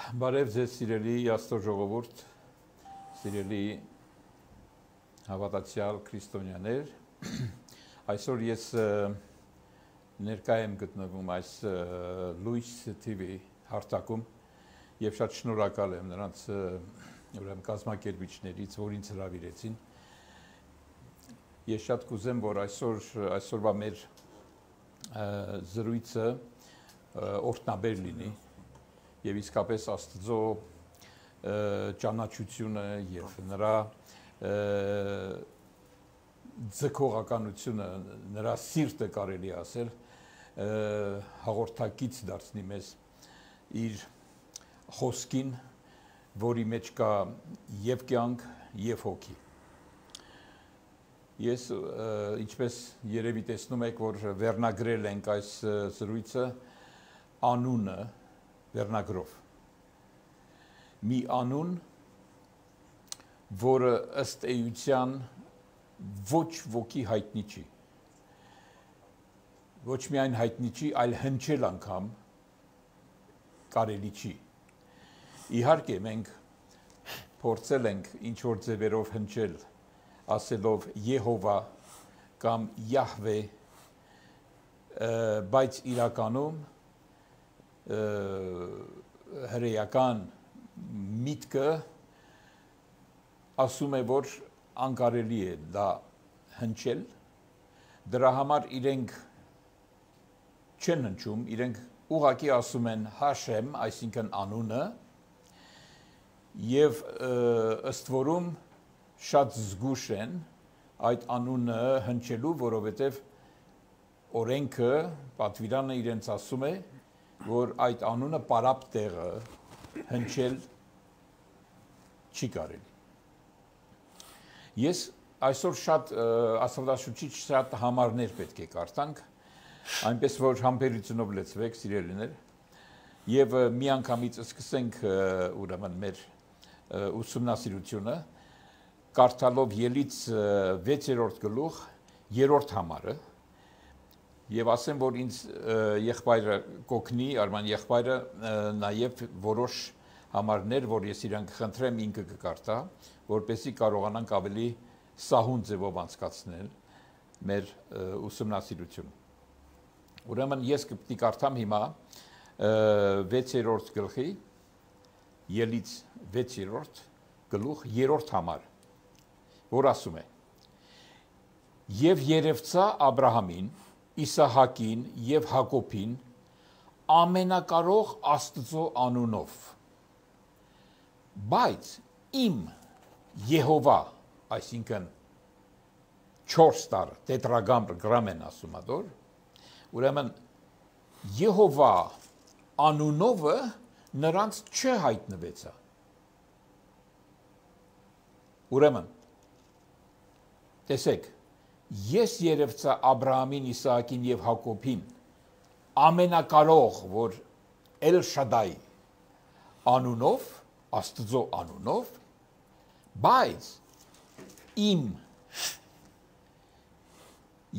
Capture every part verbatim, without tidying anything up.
Բարև ձեզ սիրելի Աստծո ժողովուրդ, սիրելի հավատացյալ քրիստոնյաներ, այսօր ես ներկա եմ գտնվում այս լույս թի վի հարթակում եւ շատ շնորհակալ եմ նրանց ուրեմն կազմակերպիչներից, որ ինձ հրավիրեցին։ Ես շատ կուզեմ, որ այսօր այսօրվա մեր զրույցը օրհնաբեր լինի եւ իսկապես Աստծո ճանաչությունը եւ նրա ձգողականությունը, նրա սիրտը կարելի ասել հաղորդակից դարձնի մեզ իր խոսքին, որի մեջ կա եւ կյանք եւ հոգի։ Ես ինչպես երևի տեսնում եք, որ վերնագրել ենք այս զրույցը անունը վերնագրով։ Մի անուն, որը ըստ էության ոչ ոքի հայտնի չի։ Ոչ միայն հայտնի չի, այլ հնչել անգամ կարելի չի։ Իհարկե մենք փորձել ենք ինչ որ ձևերով հնչել, ասելով Եհովա կամ Յահվե, բայց իրականում հրեական միտքը ասում է, որ անկարելի է դա հնչել, դրա համար իրենք չեն հնչում, իրենք ուղղակի ասում են Հաշեմ, այսինքն անունը, եւ ըստ որում շատ զգուշ են այդ անունը հնչելու, որովհետեւ օրենքը, պատվիրանը իրենց ասում է, որ այդ անունը պարապ տեղը հնչել չի կարելի։ Ես այսօր շատ աստվածաշուչից շատ համարներ պետք է կարդանք, այնպես որ համբերությունով լեցվեք, սիրելիներ, եւ միանգամից սկսենք ուրեմն մեր ուսումնասիրությունը, կարդալով Ելից վեցերորդ գլուխ, երրորդ համարը, եւ ասեմ, որ ինձ եղբայրը կօգնի, Արման եղբայրը նաեւ որոշ համարներ, որ ես իրան կխնդրեմ ինքը կկարդա, որպեսզի կարողանանք ավելի սահուն ձևով անցկացնել մեր ուսումնասիրությունը։ Ուրեմն ես կպետք կարդամ հիմա վեցերորդ գլխի, Ելից վեցերորդ գլուխ, երրորդ համար, որ ասում է. Եվ երևցա Աբրահամին, Իսահակին եւ Հակոբին ամենակարող Աստծո անունով, բայց իմ Եհովա, այսինքն չորս տար տետրագրամ են ասում ադոր, ուրեմն Եհովա անունովը նրանց չհայտնվեցա։ Ուրեմն տեսեք, ես երևցա Աբրահամին, Իսահակին եւ Հակոբին ամենակարող, որ Էլ Շադայ անունով, Աստծո անունով, բայց իմ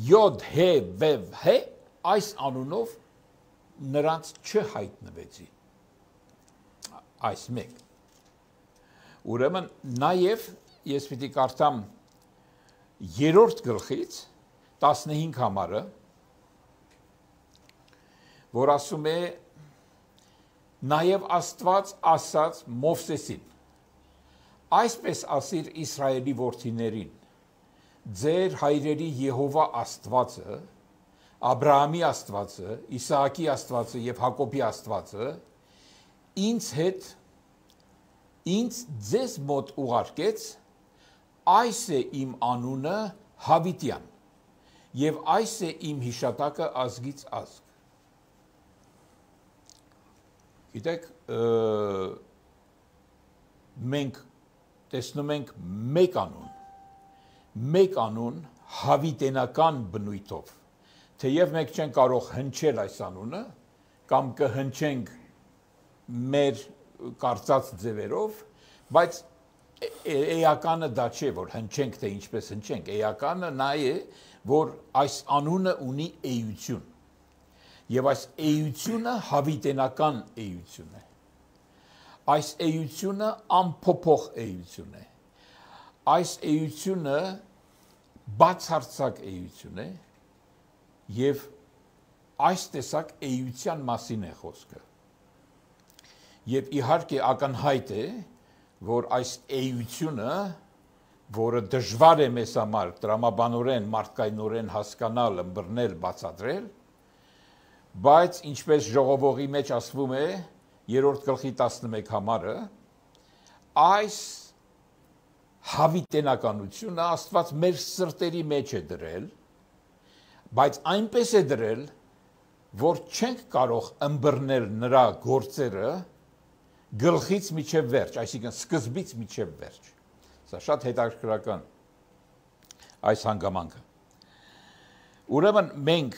Յոդ Հե Վև Հե այս անունով նրանց չհայտնվեցի։ Այս մեկ։ Ուրեմն նաեւ ես պիտի կարդամ երրորդ գլխից տասնհինգ համարը, որ ասում է նաև Աստված ասաց Մովսեսին. այսպես ասիր Իսրայելի որդիներին, ձեր հայրերի Եհովա Աստվածը, Աբրահամի Աստվածը, Իսահակի Աստվածը եւ Հակոբի Աստվածը ինձ հետ ինձ ձեզ մոտ ուղարկեց, այս է իմ անունը Հավիտյան, եւ այս է իմ հիշատակը ազգից ազգ։ Գիտեք, մենք տեսնում ենք մեկ անուն, մեկ անուն հավիտենական բնույթով, թեև մենք չենք կարող հնչել այս անունը, կամ կհնչենք մեր կարծած ձևերով, բայց էականը դա չէ, որ հնչենք, թե ինչպես հնչենք, էականը նա է, որ այս անունը ունի էություն, եւ այս էությունը հավիտենական էություն է, այս էությունը անփոփոխ էություն է։ Այս էությունը բացարձակ էություն է եւ այս տեսակ էության մասին է խոսքը։ Եվ իհարկե ակնհայտ է, որ այս էությունը, որը դժվար է մեզ համար տրամաբանորեն, մարդկայնորեն հասկանալ, ըմբռնել, բացատրել, բայց ինչպես ժողովողի մեջ ասվում է, երրորդ գլխի տասնմեկ համարը, այս հավիտենականությունը Աստված մեր սրտերի մեջ է դրել, բայց այնպես է դրել, որ չենք կարող ըմբռնել նրա գործերը գլխից մինչև վերջ, այսինքն սկզբից մինչև վերջ։ Սա շատ հետաքրքրական այս հանգամանքը։ Ուրեմն մենք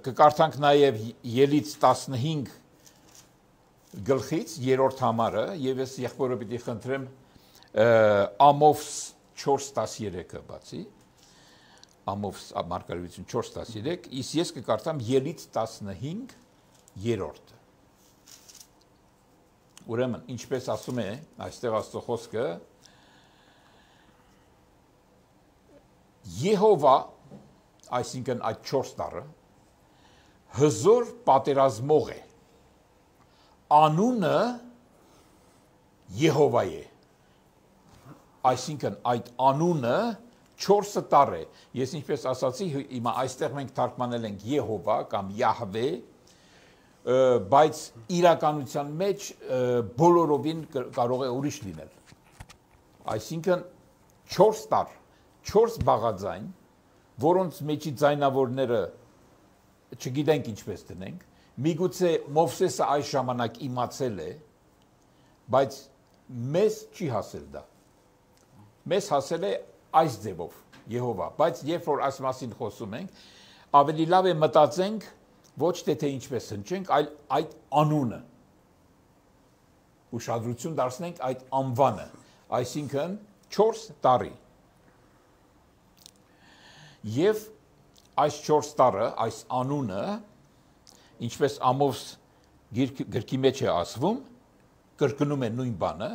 կկարդանք նաև Ելից տասնհինգ գլխից երրորդ համարը եւ ես եղբորը պիտի խնդրեմ Ամովս չորս տասներեքը բացի Ամովս մարգարեություն չորս տասներեք, իսկ ես կկարդամ Ելից տասնհինգ երրորդը։ Ուրեմն ինչպես ասում է այստեղ Աստծո խոսքը, Եհովա, այսինքն այդ չորս տառը, հզոր պատերազմող է, անունը Եհովա է, այսինքն այդ անունը չորսը տառ է, ես ինչպես ասացի, հիմա այստեղ մենք թարգմանել ենք Եհովա կամ Յահվե, բայց իրականության մեջ բոլորովին կարող է ուրիշ լինել, այսինքն չորս տառ, չորս բաղաձայն, որոնց մեջի ձայնավորները չգիտենք ինչպես դնենք, միգուցե Մովսեսը այս ժամանակ իմացել է, բայց մեզ չի հասել դա։ Մեզ հասել է այս ձևով Եհովա, բայց երբ որ այս մասին խոսում ենք, ավելի լավ է մտածենք ոչ թե թե ինչպես հնչենք, այլ այդ անունը։ Ուշադրություն դարձնենք այդ անվանը, այսինքն չորս տառի։ Եվ այս չորս տառը, այս անունը, ինչպես Ամովս գրքի մեջ է ասվում, կրկնում է նույն բանը,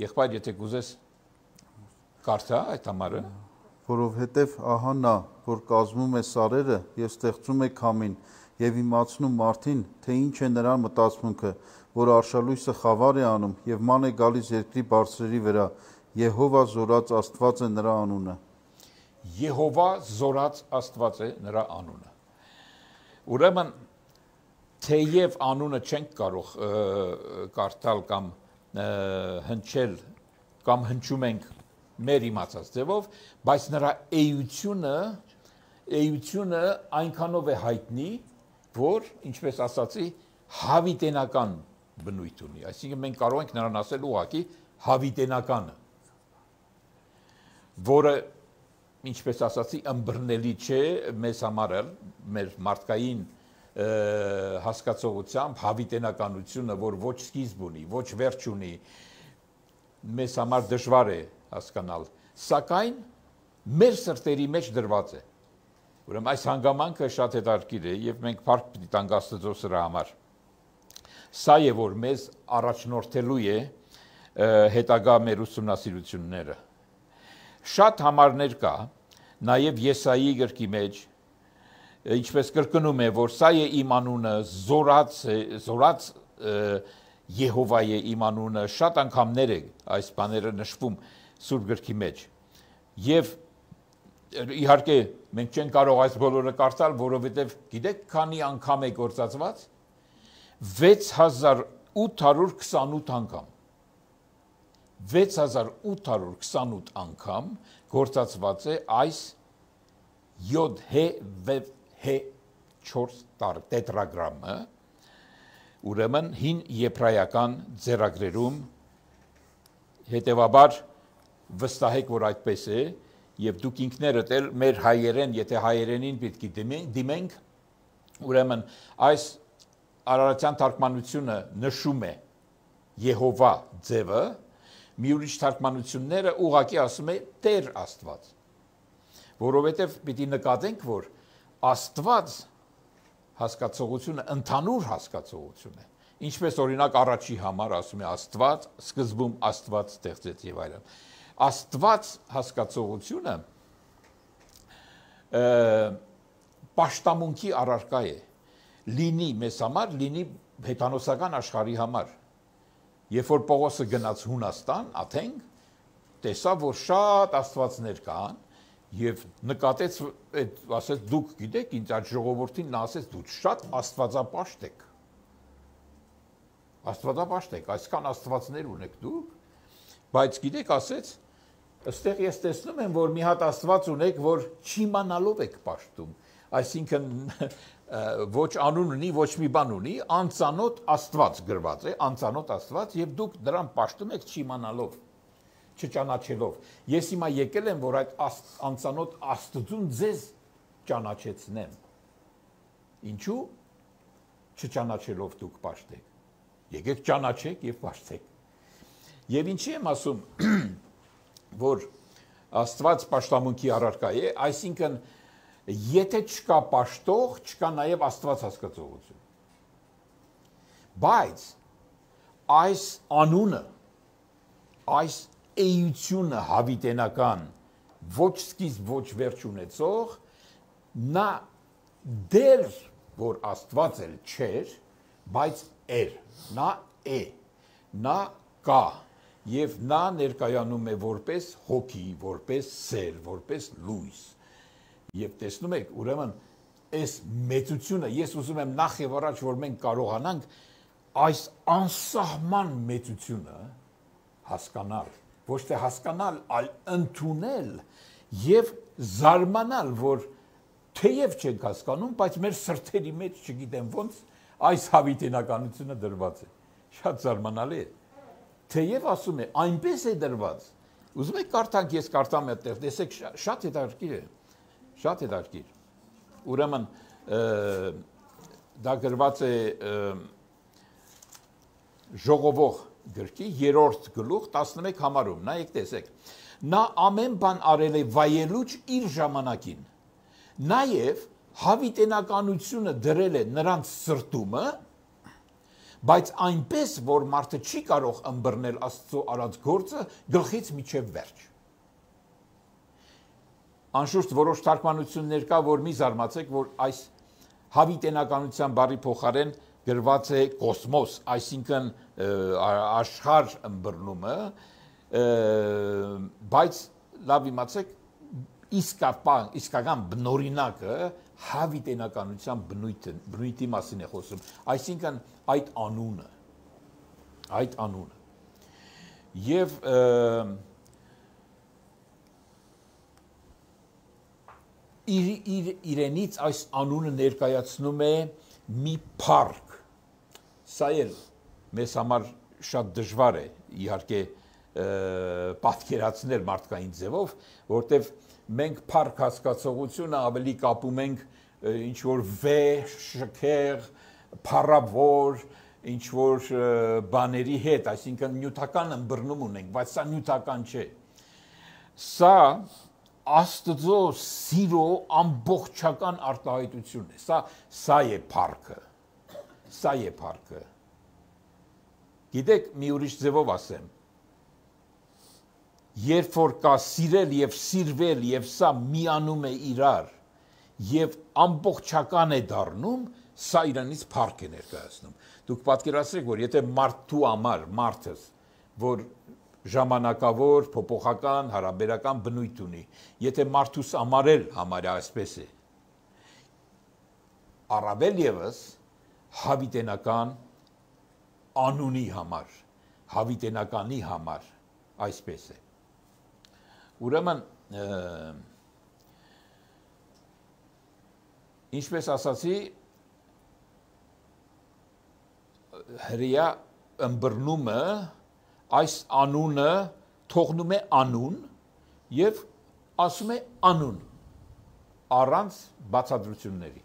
եղբայր, եթե կուզես կարդա այդ համարը, որովհետև ահա նա, որ կազմում է սարերը եւ ստեղծում է քամին եւ իմացնում մարդին, թե ինչ է նրան մտածմունքը, որ արշալույսը խավար է անում եւ ման է գալիս երկրի բարձրերի վրա, Եհովա զորած Աստված է նրա անունը։ Եհովա զորած Աստված է նրա անունը։ Ուրեմն թեև անունը չենք կարող կարդալ կամ հնչել կամ հնչում ենք մեր իմացած ձևով, բայց նրա էությունը, էությունը այնքանով է հայտնի, որ, ինչպես ասացի, հավիտենական բնույթ ունի, այսինքն մենք կարող ենք նրան ասել ուղղակի հավիտենականը, որը, ինչպես ասացի, ըմբռնելի չէ մեզ համար, մեր մարդկային հասկացողությամբ հավիտենականությունը, որ ոչ սկիզբ ունի, ոչ վերջ ունի, մեզ համար դժվար է հասկանալ, սակայն մեր սրտերի մեջ դրված է։ Ուրեմն այս հանգամանքը շատ հետաքրքիր է եւ մենք փառք պիտի տանք Աստծո սրա համար։ Սա է որ մեզ առաջնորդելու է հետագա մեր ուսումնասիրությունները։ Շատ համարներ կա, նաեւ Եսայի գրքի մեջ, ինչպես կրկնում է, որ սա է իմ անունը, զորած զորած Եհովա է իմ անունը, շատ անգամներ է այս բաները նշվում Սուրբ գրքի մեջ։ Եվ իհարկե մենք չենք կարող այս բոլորը կարդալ, որովհետև գիտեք քանի անգամ է գործածված։ վեց հազար ութ հարյուր քսանութ անգամ։ վեց հազար ութ հարյուր քսանութ անգամ գործածված է այս յոդ հե վև հե չորս տառ տետրագրամը, ուրեմն հին եբրայական ձեռագրերում, հետևաբար վստահեք, որ այդպես է, եւ դուք ինքներդ էլ մեր հայերեն, եթե հայերենին պետք է դիմենք, ուրեմն այս արարատյան թարգմանությունը նշում է Եհովա ձևը, մի ուրիշ թարգմանությունները ուղղակի ասում է Տեր Աստված, որովհետև պիտի նկատենք, որ Աստված հասկացողությունը ընդհանուր հասկացողություն է, Ինչպես օրինակ առաջի համար ասում է Աստված, սկզբում Աստված ստեղծեց եւ այլն։ Աստված հասկացողությունը պաշտամունքի առարկա է։ Լինի մեզ համար, լինի հեթանոսական աշխարհի համար։ Երբ որ Պողոսը գնաց Հունաստան, Աթենք, տեսավ, որ շատ աստվածներ կան եւ նկատեց, այդ ասեց դուք գիտեք, ինձ այդ ժողովրդին նա ասեց դուք շատ աստվածապաշտ եք։ Աստվածապաշտ եք, այսքան աստվածներ ունեք դուք, բայց գիտեք, ասեց, ըստեղ ես տեսնում եմ, որ մի հատ աստված ունեք, որ չիմանալով եք պաշտում, այսինքն ոչ անուն ունի, ոչ մի բան ունի, անծանոթ աստված գրված է, անծանոթ աստված, եւ դուք դրան պաշտում եք չիմանալով, չճանաչելով։ Ես հիմա եկել եմ, որ այդ անծանոթ Աստծուն ձեզ ճանաչեցնեմ։ Ինչու՞ չճանաչելով դուք պաշտեք։ Եկեք ճանաչեք եւ պաշտեք։ Եվ ինչի եմ ասում, որ Աստված պաշտամունքի առարկա է, այսինքն եթե չկա պաշտող, չկա նաեւ Աստված հասկացողություն։ Բայց այս անունը, այս էությունը հավիտենական, ոչ սկիզբ, ոչ վերջ ունեցող, նա դեր, որ Աստված էլ չէր, բայց էր, նա է, նա կա, եւ նա ներկայանում է որպես հոգի, որպես սեր, որպես լույս։ Եվ տեսնում եք, ուրեմն, այս մեծությունը, ես ուզում եմ նախ եւ առաջ, որ մենք կարողանանք այս անսահման մեծությունը հասկանալ, ոչ թե հասկանալ, այլ ընդունել եւ զարմանալ, որ թեև չենք հասկանում, բայց մեր սրտերի մեջ չգիտեմ ոնց այս հավիտենականությունը դրված է։ Շատ զարմանալի է։ Թեև ասում է, այնպես է դրված։ Ուզում եք կարդանք, ես կարդամ այդտեղ, տեսեք, շատ հետաքրքիր է։ Շատ հետաքրքիր։ Ուրեմն դա գրված է Ժողովող գրքի երրորդ գլուխ տասնմեկ համարում, նայեք տեսեք, նա ամեն բան արել է վայելուչ իր ժամանակին, նաև հավիտենականությունը դրել է նրանց սրտումը, բայց այնպես, որ մարդը չի կարող ըմբռնել Աստծո արած գործը գլխից մինչև վերջ։ Անշուշտ որոշ թարգմանություններ կա, որ մի զարմացեք, որ այս հավիտենականության բառի փոխարեն գրված է կոսմոս, այսինքն աշխարհ ըմբռնումը, բայց լավ իմացեք, իսկական բնօրինակը հավիտենականության բնույթի մասին է խոսում, այսինքն այդ անունը, այդ անունը։ Եվ իրենից այս անունը ներկայացնում է մի փառք։ Սա էլ մեզ համար շատ դժվար է, իհարկե, պատկերացնել մարդկային ձևով, որտեվ մենք փառք հասկացողությունը ավելի կապում ենք ինչ-որ վեհ, շքեղ, փառավոր, ինչ-որ բաների հետ, այսինքն նյութական ըմբռնում ունենք, բայց սա նյութական չէ։ Սա Աստծո սիրո ամբողջական արտահայտությունն է, սա, սա է փառքը, սա է փառքը։ Գիտեք, մի ուրիշ ձևով ասեմ, երբ որ կա սիրել եւ սիրվել եւ սա միանում է իրար եւ ամբողջական է դառնում, սա իրանից փառք է ներկայացնում։ Դուք պատկերացրեք, որ եթե մարդու համար, մարդս, որ ժամանակավոր, փոփոխական, հարաբերական բնույթ ունի, եթե մարդուս ամարել համարյա այսպես է, առավել ևս հավիտենական անունի համար, հավիտենականի համար, այսպես է։ Ուրեմն, ինչպես ասացի, հրեա ըմբռնումը այս անունը թողնում է անուն եւ ասում է անուն առանց բացատրությունների։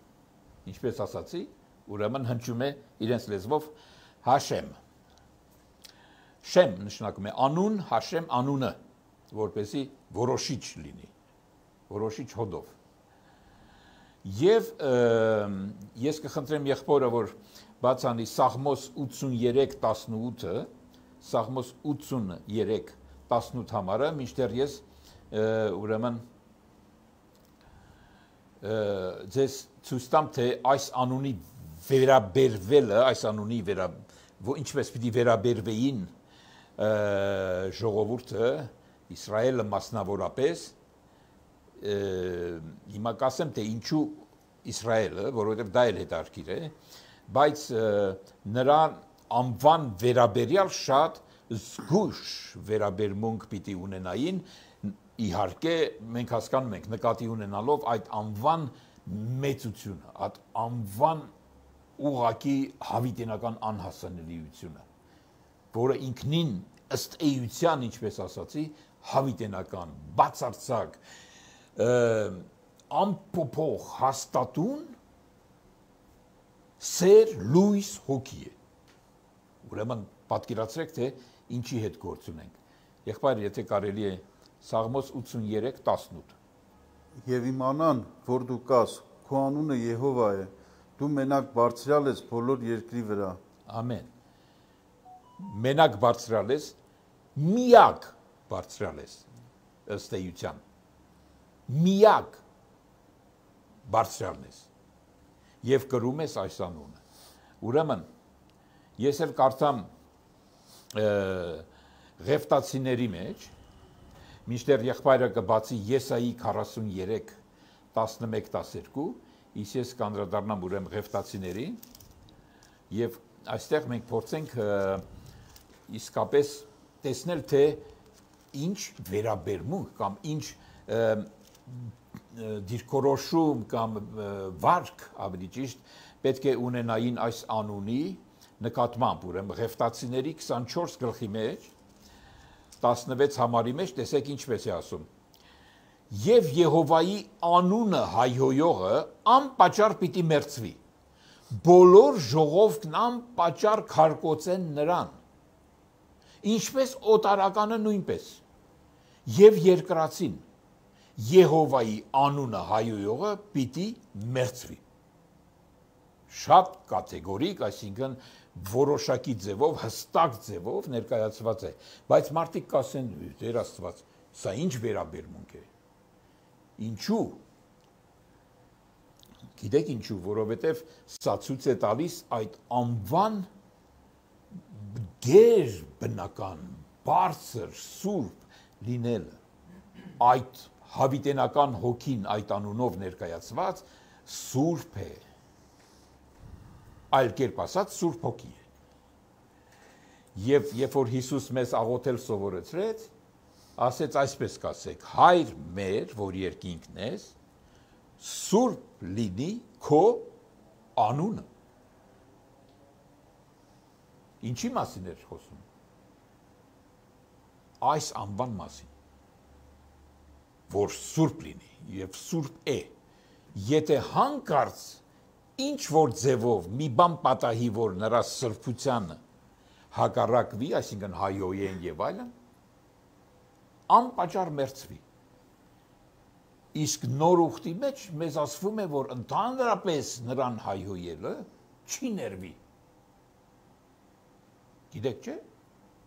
Ինչպես ասացի, ուրեմն հնչում է իրենց լեզվով Հաշեմ։ Շեմ նշանակում է անուն, Հաշեմ անունը, որպեսզի որոշիչ լինի, որոշիչ հոդով։ Եվ ես կխնդրեմ եղբորը, որ բաց անի Սաղմոս ութսուներեք տասնութը, Սաղմոս ութսուներեք տասնութ համարը, մինչդեռ ես ուրեմն ձեզ ցույց տամ, թե այս անունի վերաբերվելը, այս անունի վերա ինչպես պիտի վերաբերվեին ժողովուրդը, Իսրայելը մասնավորապես, հիմա կասեմ, թե ինչու Իսրայելը, որովհետև դա էլ հետաքրքիր է, բայց նրան անվան վերաբերյալ շատ զգույշ վերաբերմունք պիտի ունենային, իհարկե մենք հասկանում ենք նկատի ունենալով այդ անվան մեծությունը, այդ անվան ուղղակի հավիտենական անհասանելիությունը, որը ինքնին ըստ էության, ինչպես ասացի, հավիտենական, բացարձակ, անփոփոխ հաստատուն սեր լույս հոգի է։ Ուրեմն պատկերացրեք, թե ինչի հետ գործ ունենք։ Եղբայր, եթե կարելի է Սաղմոս ութսուներեք տասնութ։ Եվ իմանան, որ դու կաս, քո անունը Եհովա է, դու մենակ բարձրյալ ես բոլոր երկրի վրա։ Ամեն։ Մենակ բարձրյալ ես, միակ բարձրյալ ես, ըստ էության։ Միակ բարձրյալն ես եւ կրում ես այս անունը։ Ուրեմն ես էլ կարդամ Ղեֆտացիների մեջ, մինչդեռ եղբայրը կբացի Եսայի քառասուներեք տասնմեկ տասներկու, իսկ ես կանդրադառնամ ուրեմն Ղեֆտացիների եւ այստեղ մենք փորձենք իսկապես տեսնել, թե ինչ վերաբերմունք կամ ինչ դիրքորոշում կամ վարք ավելի ճիշտ պետք է ունենային այս անունի նկատմամբ, ուրեմն Ղեֆտացիների քսանչորս գլխի մեջ տասնվեց համարի մեջ տեսեք ինչպես է ասում. Եվ Եհովայի անունը հայհոյողը անպատճառ պիտի մերձվի, բոլոր ժողովն անպատճառ քարկոծեն նրան, ինչպես օտարականը նույնպես, եւ երկրածին Եհովայի անունը հայհոյողը պիտի մերձվի։ Շատ կատեգորիկ, այսինքն որոշակի ձևով, հստակ ձևով ներկայացված է, բայց մարդիկ կասեն, Տեր Աստված, սա ինչ վերաբերմունք է։ Ինչու։ Գիտեք ինչու, որովհետև սա ցույց է տալիս այդ անվան գեր բնական, բարձր, սուրբ լինելը, այդ հավիտենական հոգին այդ անունով ներկայացված սուրբ է, այլ կերպ ասած սուրբ հոգի է։ Եվ երբ որ Հիսուս մեզ աղոթել սովորեցրեց, ասեց այսպես կասեք. Հայր մեր, որ երկինքն ես, սուրբ լինի քո անունը։ Ինչի մասին էր խոսում։ Այս անվան մասին, որ սուրբ լինի եւ սուրբ է։ Եթե հանկարծ ինչ որ ձևով մի բան պատահի, որ նրա սրբությանը հակառակվի, այսինքն հայոյեն եւ այլն, անպատճառ մերձվի։ Իսկ նոր ուխտի մեջ մեզ ասվում է, որ ընդհանրապես նրան հայհոյելը չի ներվի։ Գիտեք չէ,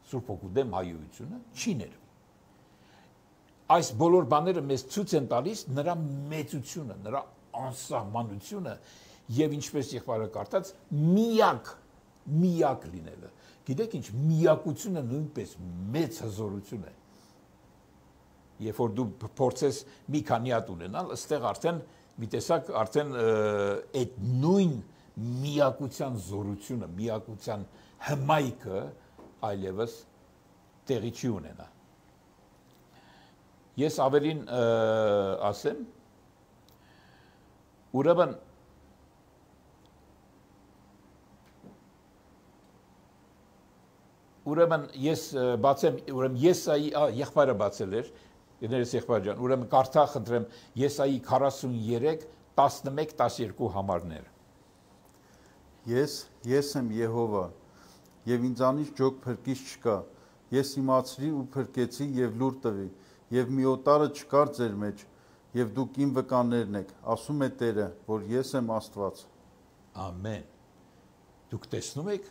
Սուրբ Հոգու դեմ հայհոյությունը չի ներվի։ Այս բոլոր բաները մեզ ցույց են տալիս նրա մեծությունը, նրա անսահմանությունը եւ ինչպես եղբայրը կարդաց, միակ, միակ լինելը։ Գիտեք ինչ, միակությունը նույնպես մեծ հզորություն է։ Երբ որ դու փորձես մի քանի հատ ունենալ, ըստեղ արդեն մի տեսակ արդեն այդ նույն միակության զորությունը, միակության հմայքը այլևս տեղի չի ունենա։ Ես ավելին ասեմ, ուրեմն ուրեմն ես բացեմ, ուրեմն Եսայի, եղբայրը բացել էր, Ներես եղբայր ջան, ուրեմն կարդա խնդրեմ Եսայի քառասուներեք տասնմեկ տասներկու համարներ։ Ես, ես եմ Եհովա, եւ ինձանից ջոկ փրկիչ չկա։ Ես իմացրի ու փրկեցի եւ լուր տվի, եւ մի օտարը չկար ձեր մեջ, եւ դուք իմ վկաներն եք, ասում է Տերը, որ ես եմ Աստված։ Ամեն։ Դուք տեսնում եք,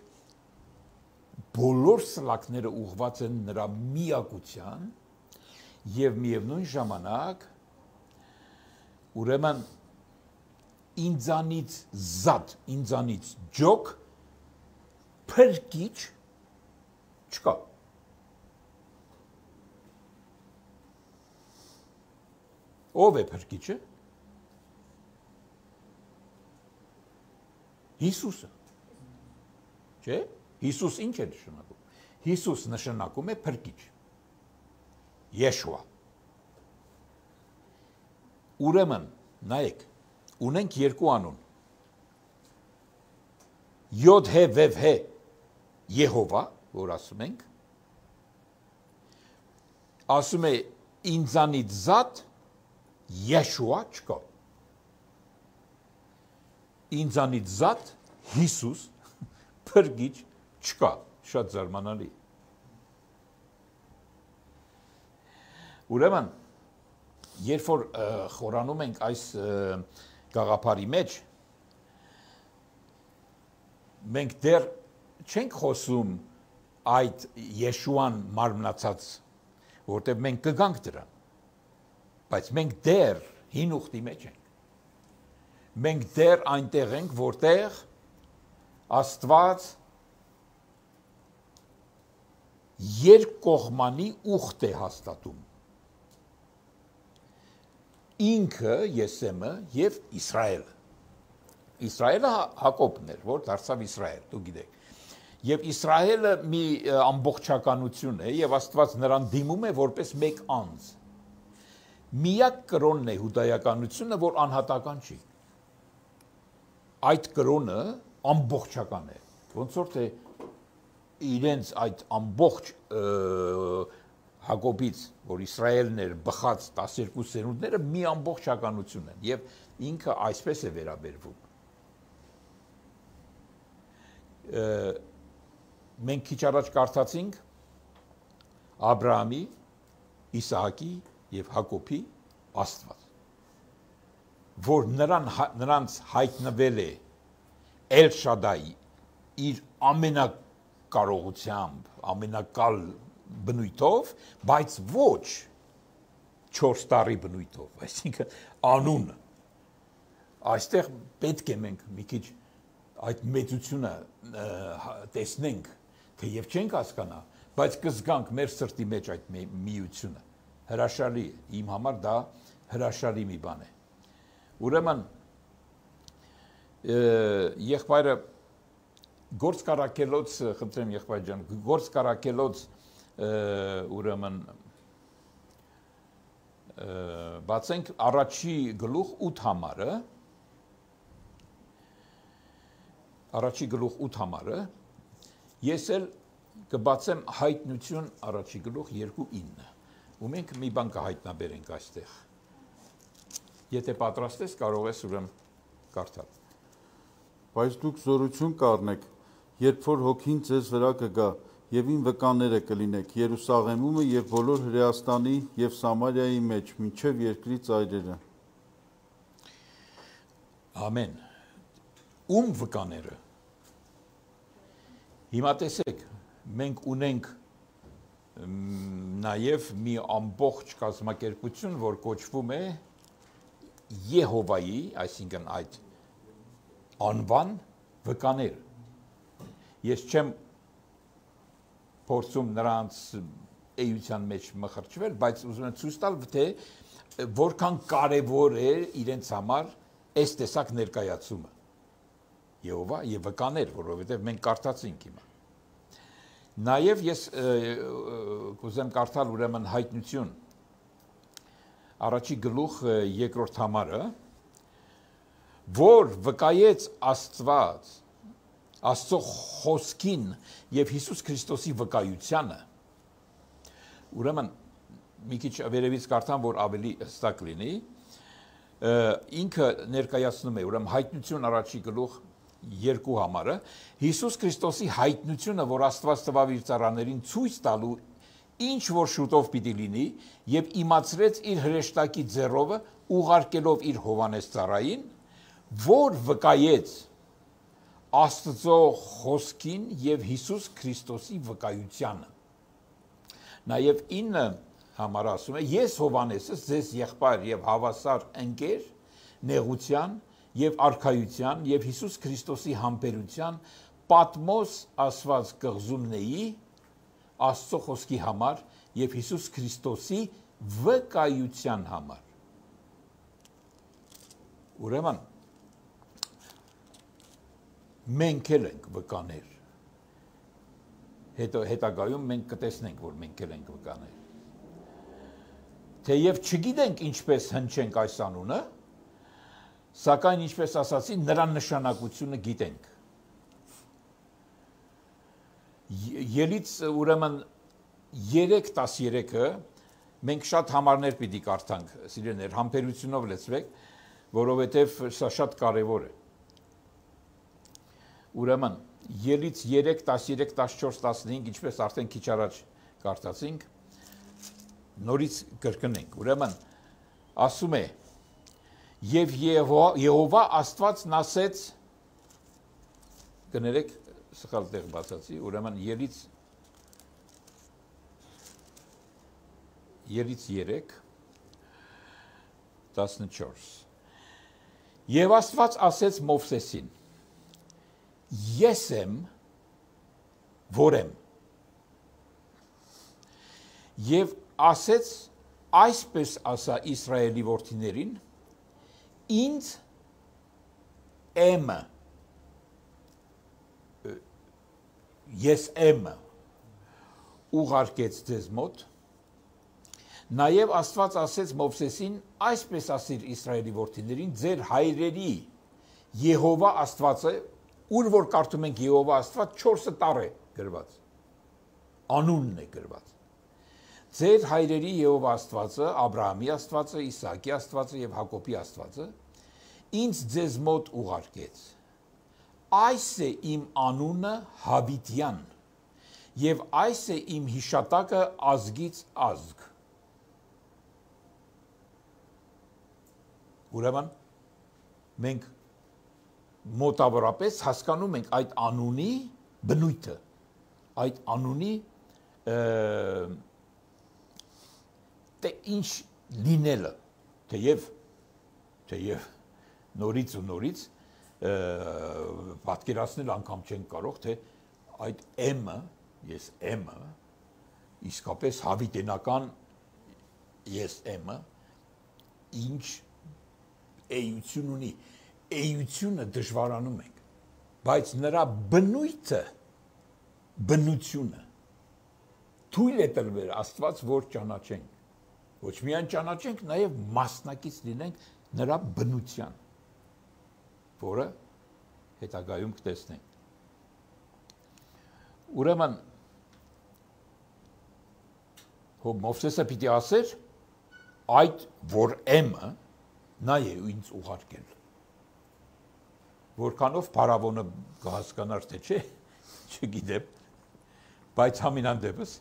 բոլոր սլակները ուղղված են նրա միակության եւ միևնույն ժամանակ ուրեմն ինձանից զատ, ինձանից ջոկ փրկիչ չկա։ Ով է փրկիչը։ Հիսուսը։ Չէ՞։ Հիսուս ինչ է նշանակում։ Հիսուս նշանակում է փրկիչ։ Yeshua։ Ուրեմն, նայեք, ունենք երկու անուն։ Յոդ հե վև հե Եհովա, որ ասում ենք, ասում է ինձանից զատ Yeshua չկա։ Ինձանից զատ Հիսուս փրկիչ չկա, շատ զարմանալի։ Ուրեմն, երբ որ խորանում ենք այս գաղափարի մեջ, մենք դեռ չենք խոսում այդ Եշուան մարմնացած, որտեղ մենք կգանք դրան, բայց մենք դեռ հին ուխտի մեջ ենք։ Մենք դեռ այնտեղ ենք, որտեղ Աստված երկկողմանի ուխտ է հաստատում։ Ինքը Եսեմը եւ Իսրայելը։ Իսրայելը Հակոբն էր, որ դարձավ Իսրայել, դու գիտեք։ Եվ Իսրայելը մի ամբողջականություն է եւ Աստված նրան դիմում է որպես մեկ անձ։ Միակ կրոնն է հուդայականությունը, որ անհատական չի։ Այդ կրոնը ամբողջական է։ Ոնց որ թե իրենց այդ ամբողջ Հակոբից, որ Իսրայելն էր բխած տասներկու սերունդները մի ամբողջականություն են եւ ինքը այսպես է վերաբերվում։ Մենք քիչ առաջ կարդացինք Աբրահամի, Իսահակի եւ Հակոբի Աստված, որ նրան նրանց հայտնվել է Էլ Շադայ իր ամենակարողությամբ, ամենակալ բնույթով, բայց ոչ չորս տարի բնույթով, այսինքն անունը։ Այստեղ պետք է մենք մի քիչ այդ մեծությունը տեսնենք, թեև չենք հասկանա, բայց կզգանք մեր սրտի մեջ այդ միությունը։ Հրաշալի է, իմ համար դա հրաշալի մի բան է։ Ուրեմն եղբայրը գործ կարակելոց, խնդրեմ եղբայր ջան, գործ կարակելոց ուրեմն բացենք առաջի գլուխ ութ համարը, առաջի գլուխ ութ համարը, ես էլ կբացեմ հայտնություն առաջի գլուխ երկու ինը, ու մենք մի բան կհայտնաբերենք այստեղ։ Եթե պատրաստ ես, կարող ես ուրեմն կարդալ։ Բայց դուք զորություն կառնեք, երբ որ հոգին ձեզ վրա կգա, եւ ին վկաները կլինեք Երուսաղեմում եւ բոլոր Հրեաստանի եւ Սամարիայի մեջ, մինչեւ երկրի ծայրերը։ Ամեն։ Ում վկաները։ Հիմա տեսեք, մենք ունենք նաեւ մի ամբողջ կազմակերպություն, որ կոչվում է Եհովայի, այսինքն այդ անվան վկաներ։ Ես չեմ փորձում նրանց էության մեջ մխրճվել, բայց ուզում եմ ցույց տալ, թե որքան կարևոր է իրենց համար այս տեսակ ներկայացումը։ Եհովա եւ վկաներ, որովհետեւ մենք կարդացինք հիմա։ Նաեւ ես կուզեմ կարդալ ուրեմն հայտնություն առաջի գլուխ երկրորդ համարը, որ վկայեց Աստված Աստծո խոսքին եւ Հիսուս Քրիստոսի վկայությանը, ուրեմն մի քիչ վերևից կարդամ, որ ավելի հստակ լինի, ինքը ներկայացնում է, ուրեմն հայտնություն առաջի գլուխ երկու համարը, Հիսուս Քրիստոսի հայտնությունը, որ Աստված տվավ իր ծառաներին ցույց տալու, ինչ որ շուտով պիտի լինի, եւ իմացրեց իր հրեշտակի ձեռովը, ուղարկելով իր Հովանես ծառային, որ վկայեց Աստծո խոսքին եւ Հիսուս Քրիստոսի վկայությանը։ Նաեւ ինը համար ասում է. ես Հովանեսը ձեզ եղբայր եւ հավասար ընկեր նեղության եւ արքայության եւ Հիսուս Քրիստոսի համբերության Պատմոս ասված կղզումնեի Աստծո խոսքի համար եւ Հիսուս Քրիստոսի վկայության համար։ Ուրեմն մենք էլ ենք վկաներ։ Հետո հետագայում մենք կտեսնենք, որ մենք էլ ենք վկաներ։ Թեև չգիտենք ինչպես հնչենք այս անունը, սակայն ինչպես ասացի, նրա նշանակությունը գիտենք։ Ելից ուրեմն երեք տասներեքը մենք շատ համարներ պիտի կարդանք, սիրելիներ, համբերությունով լեցվեք, որովհետև սա շատ կարևոր է։ Ուրեմն ելից երեք տասներեք տասնչորս տասնհինգ, ինչպես արդեն քիչ առաջ կարդացինք, նորից կրկնենք։ Ուրեմն ասում է. Եվ Եհովա Աստվածն ասեց, կներեք, սխալ տեղ բացացի, ուրեմն ելից ելից երեք տասնչորս։ Եվ Աստված ասեց Մովսեսին. Ես եմ, որ եմ։ Եվ ասեց այսպես ասա Իսրայելի որդիներին, ինձ եմ, ես եմ ուղարկեց ձեզ մոտ, նաև Աստված ասեց Մովսեսին, այսպես ասիր Իսրայելի որդիներին, ձեր հայրերի Եհովա Աստվածը, ուր որ կարդում ենք Եհովա Աստված, չորսը տառ է գրված, անունն է գրված։ Ձեր հայրերի Եհովա Աստվածը, Աբրահամի Աստվածը, Իսահակի Աստվածը եւ Հակոբի Աստվածը ինձ ձեզ մոտ ուղարկեց։ Այս է իմ անունը Հավիտյան եւ այս է իմ հիշատակը ազգից ազգ։ Ուրեմն մենք մոտավորապես հասկանում ենք այդ անունի բնույթը, այդ անունի թե ինչ լինելը, թեև թեև նորից ու նորից պատկերացնել անգամ չենք կարող, թե այդ M-ը, ես M-ը, իսկապես հավիտենական ես M-ը ինչ էություն ունի, էությունը դժվարանում ենք, բայց նրա բնույթը, բնությունը թույլ է տրվել Աստված, որ ճանաչենք, ոչ միայն ճանաչենք, նաև մասնակից լինենք նրա բնության, որը հետագայում կտեսնենք։ Ուրեմն Մովսեսը պիտի ասեր, այդ որ M-ը նա է ինձ ուղարկել։ Որքանով փարավոնը կհասկանար թե չէ, չգիտեմ, բայց համենայն դեպս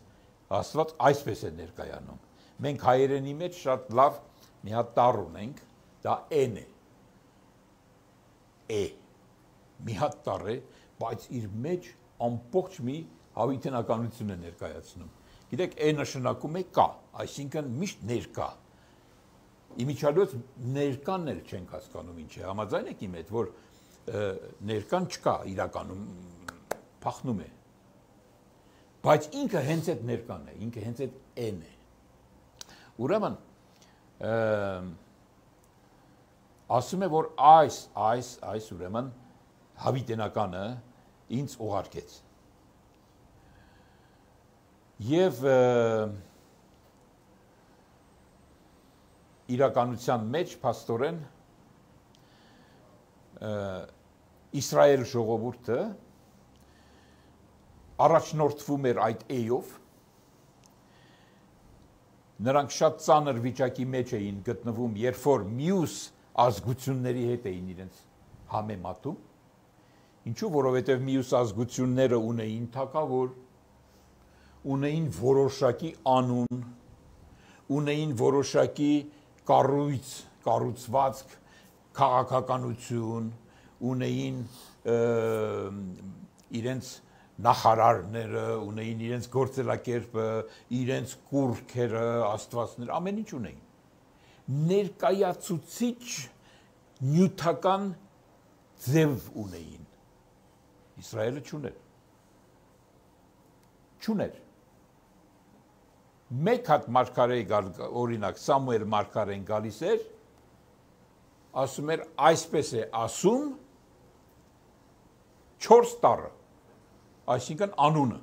Աստված այսպես է ներկայանում։ Մենք հայերենի մեջ շատ լավ մի հատ տառ ունենք, դա N է։ E մի հատ տառ է, բայց իր մեջ ամբողջ մի հավիտենականություն է ներկայացնում։ Գիտեք, E նշանակում է կա, այսինքն միշտ ներկա։ Իմիջիալոց ներկան էլ չենք հասկանում ինչ է, համաձայն եք իմ հետ, որ ներկան չկա, իրականում փախնում է։ Բայց ինքը հենց այդ ներկան է, ինքը հենց այդ N է։ Ուրեմն ասում է, որ այս, այս, այս ուրեմն հավիտենականը ինձ ուղարկեց։ Եվ իրականության մեջ փաստորեն Իսրայել ժողովուրդը առաջնորդվում էր այդ էյով, նրանք շատ ծանր վիճակի մեջ էին գտնվում, երբ որ մյուս ազգությունների հետ էին իրենց համեմատում, ինչու, որովհետև մյուս ազգությունները ունեին թագավոր, ունեին որոշակի անուն, ունեին որոշակի կառույց, կառուցվածք, քաղաքականություն, ունեին իրենց նախարարները, ունեին իրենց գործելակերպը, իրենց կուրքերը, աստվածները, ամեն ինչ ունեին։ Ներկայացուցիչ նյութական ձև ունեին։ Իսրայելը չուներ։ Չուներ։ Մեկ հատ մարգարեի օրինակ Սամուել մարգարեն գալիս էր, ասում էր այսպես է ասում չորս տառը, այսինքն անունը,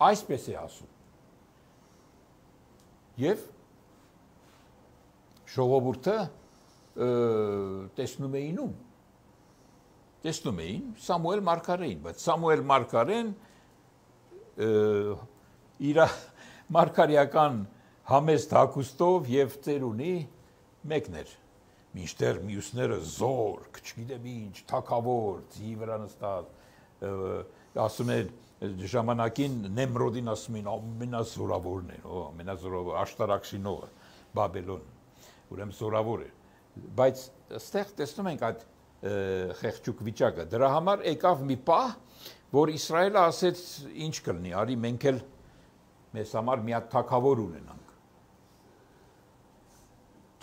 այսպես է ասում, և ժողովուրդը տեսնում էին ում, տեսնում էին Սամուել մարգարեին, բայց Սամուել մարգարեն իր մարգարեական համեստ հագուստով և ծերունի մեկն էր, մինչդեռ մյուսները զորք, չգիտեմ ինչ, թագավոր, ձի վրա նստած, ասում են ժամանակին Նեմրոդին ասում են ամենազորավորն է, ամենազորավոր աշտարակշինողը, Բաբելոն, ուրեմն զորավոր է, բայց ստեղ տեսնում ենք այդ խեղճուկ վիճակը, դրա համար եկավ մի պահ, որ Իսրայելը ասեց ինչ կլինի, արի մենք էլ մեզ համար մի հատ թագավոր ունենանք,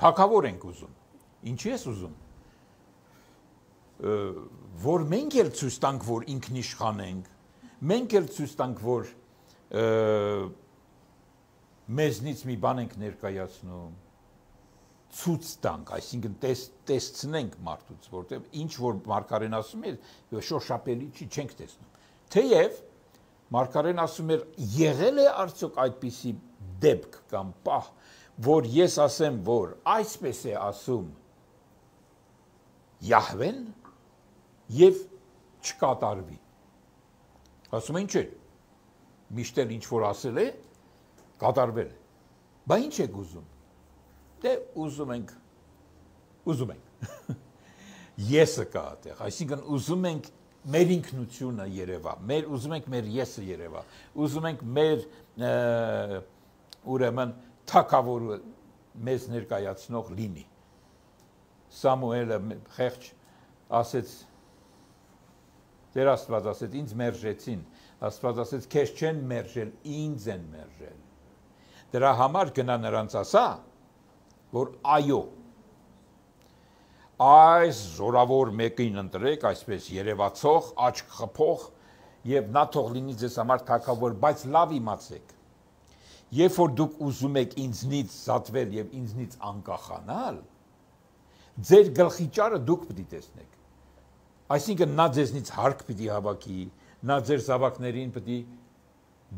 թագավոր ենք ուզում, ինչի ես ուզում, որ մենք էլ ցույց տանք, որ ինքնիշխան ենք, մենք էլ ցույց տանք, որ մեզնից մի բան ենք ներկայացնում, ցույց տանք, այսինքն տեսցնենք մարդուց, որտեղ ինչ որ մարգարեն ասում է, շոշափելի չի, չենք տեսնում։ Թեև մարգարեն ասում էր, եղել է արդյոք այդպիսի դեպք կամ պահ, որ ես ասեմ, որ այսպես է ասում Յահվեն և չկատարվի։ Ասում են չէ, միշտ էլ ինչ որ ասել է, կատարվել է։ Բա ինչ եք ուզում։ Դե ուզում ենք, ուզում ենք։ Եսը կա այդտեղ, այսինքն ուզում ենք մեր ինքնությունը երևա, մեր ուզում ենք մեր եսը երևա, ուզում ենք մեր ուրեմն թագավորը մեզ ներկայացնող լինի։ Սամուելը խեղճ ասեց, Տեր Աստված ասեց, ինձ մերժեցին, Աստված ասեց, քեզ չեն մերժել, ինձ են մերժել։ Դրա համար գնա նրանց ասա, որ այո, այս զորավոր մեկին ընտրեք, այսպես երևացող, աչք խփող եւ նա թող լինի ձեզ համար թագավոր, բայց լավ իմացեք։ Երբ որ դուք ուզում եք ինձնից զատվել եւ ինձնից անկախանալ, ձեր գլխի ճարը դուք պիտի տեսնեք։ Այսինքն նա ձեզնից հարկ պիտի հավաքի, նա ձեր զավակներին պիտի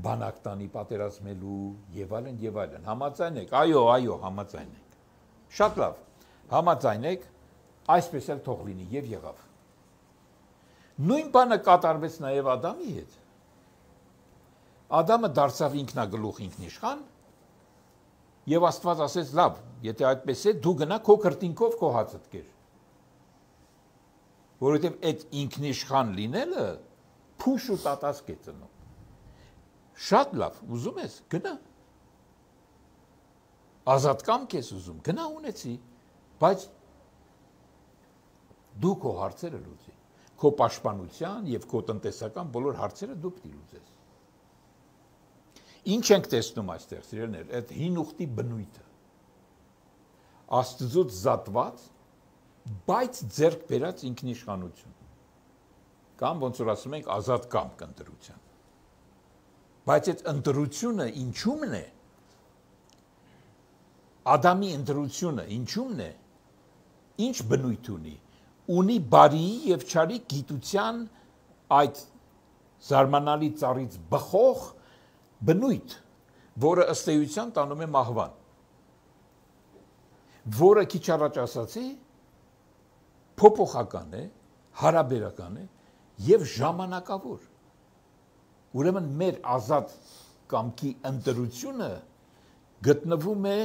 բանակ տանի պատերազմելու եւ այլն եւ այլն։ Համաձայն եք։ Այո, այո, համաձայն եք։ Շատ լավ։ Համաձայն եք, այսպես էլ թող լինի եւ եղավ։ Նույն բանը կատարվեց նաեւ Ադամի հետ։ Ադամը դարձավ ինքնագլուխ ինքնիշխան եւ Աստված ասեց, լավ, եթե այդպես է, դու գնա քո քրտինքով քո հացդ կեր։ Որովհետեւ այդ ինքնիշխան լինելը փուշ ու տատասկ է ծնում։ Շատ լավ, ուզում ես, գնա։ Ազատ կամք ես ուզում, գնա ունեցի, բայց դու քո հարցերը լուծի, քո պաշտպանության եւ քո տնտեսական բոլոր հարցերը դու պիտի լուծես։ Ինչ ենք տեսնում այստեղ, սիրելիներ, այդ հին ուխտի բնույթը։ Աստծուց զատված, բայց ձեռք բերած ինքնիշխանություն։ Կամ ոնց որ ասում ենք ազատ կամք ընտրության։ Բայց այդ ընտրությունը ինչումն է։ Ադամի ընտրությունը ինչումն է։ Ինչ բնույթ ունի։ Ունի բարի եւ չարի գիտության այդ զարմանալի ծառից բխող բնույթ, որը ըստ էության տանում է մահվան, որը քիչ առաջ ասացի, փոփոխական է, հարաբերական է եւ ժամանակավոր։ Ուրեմն մեր ազատ կամքի ընտրությունը գտնվում է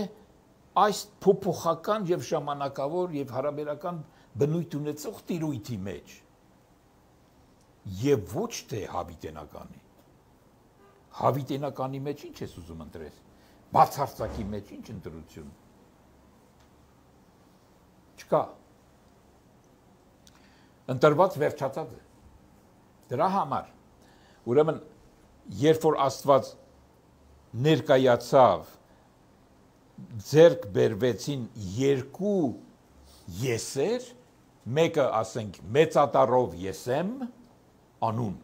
այս փոփոխական եւ ժամանակավոր եւ հարաբերական բնույթ ունեցող տիրույթի մեջ եւ ոչ թե հավիտենականի։ Հավիտենականի մեջ ինչ ես ուզում ընտրես, բացարձակի մեջ ինչ ընտրություն։ Չկա, ընտրված վերջացած է։ Դրա համար ուրեմն երբ որ Աստված ներկայացավ, ձեռք բերվեցին երկու եսեր, մեկը ասենք մեծատառով Եսեմ անուն,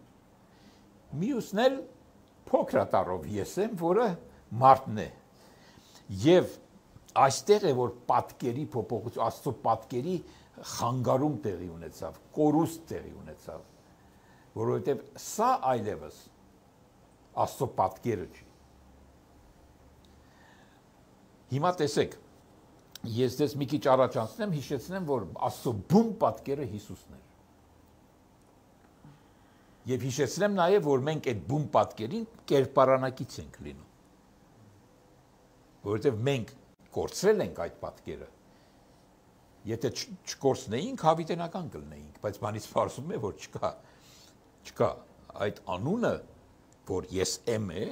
մյուսն էլ փոքրատառով Եսեմ, որը մարդն է։ Եվ այստեղ է որ պատկերի փոփոխություն, Աստծո պատկերի խանգարում տեղի ունեցավ, կորուստ տեղի ունեցավ, որովհետև սա այլևս Աստծո պատկերը չի։ Հիմա տեսեք, ես դες մի քիչ առաջ անցնեմ, հիշեցնեմ, որ Աստծո բուն պատկերը Հիսուսն էր։ Եվ հիշեցնեմ նաև, որ մենք այդ բուն պատկերին կերպարանակից ենք լինում։ Որովհետև մենք կորցրել ենք այդ պատկերը։ Եթե չկորցնեինք, հավիտենական կլինեինք, բայց բանից պարզվում է, որ չկա, չկա այդ անունը, որ ես եմ է,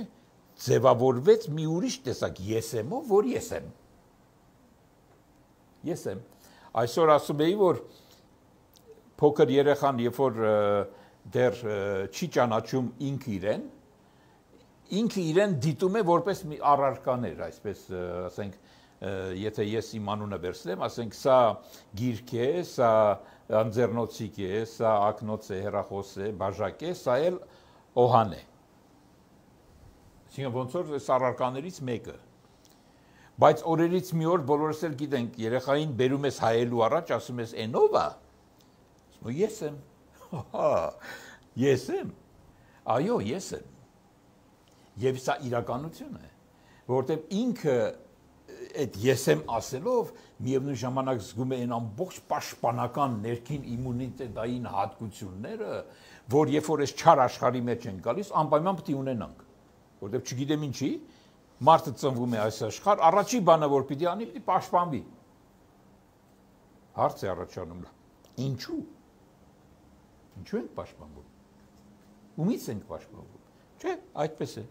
ձևավորվեց մի ուրիշ տեսակ եսեմով, որ ես եմ։ Ես եմ։ Այսօր ասում էի, որ փոքր երեխան, երբ որ դեռ չի ճանաչում ինքը իրեն, ինքը իրեն դիտում է որպես մի առարկաներ, այսպես ասենք, եթե ես իմ անունը վերցնեմ, ասենք սա գիրք է, սա անձեռնոցիկ է, սա ակնոց է, հեռախոս է, բաժակ է, սա էլ օհան է։ Այսինքն ոնց որ այս առարկաներից մեկը։ Բայց օրերից մի օր բոլորս էլ գիտենք, երեխային բերում ես հայելու առաջ, ասում ես «Էնով է»։ Ասում ես «Ես եմ»։ Հա, ես եմ։ Այո, ես եմ։ Եվ սա իրականություն է, որովհետև ինքը այդ ես եմ ասելով միևնույն ժամանակ զգում է այն ամբողջ պաշտպանական ներքին իմունիտետային հատկությունները, որ երբ որ այս չար աշխարհի մեջ են գալիս, անպայման պետք է ունենանք, որովհետև չգիտեմ ինչի, մարդը ծնվում է այս աշխարհ, առաջի բանը որ պիտի անի, պիտի պաշտպանվի։ Հարց է առաջանում. ինչու՞։ Ինչու ենք պաշտպանվում։ Ումից ենք պաշտպանվում։ Չէ, այդպես է։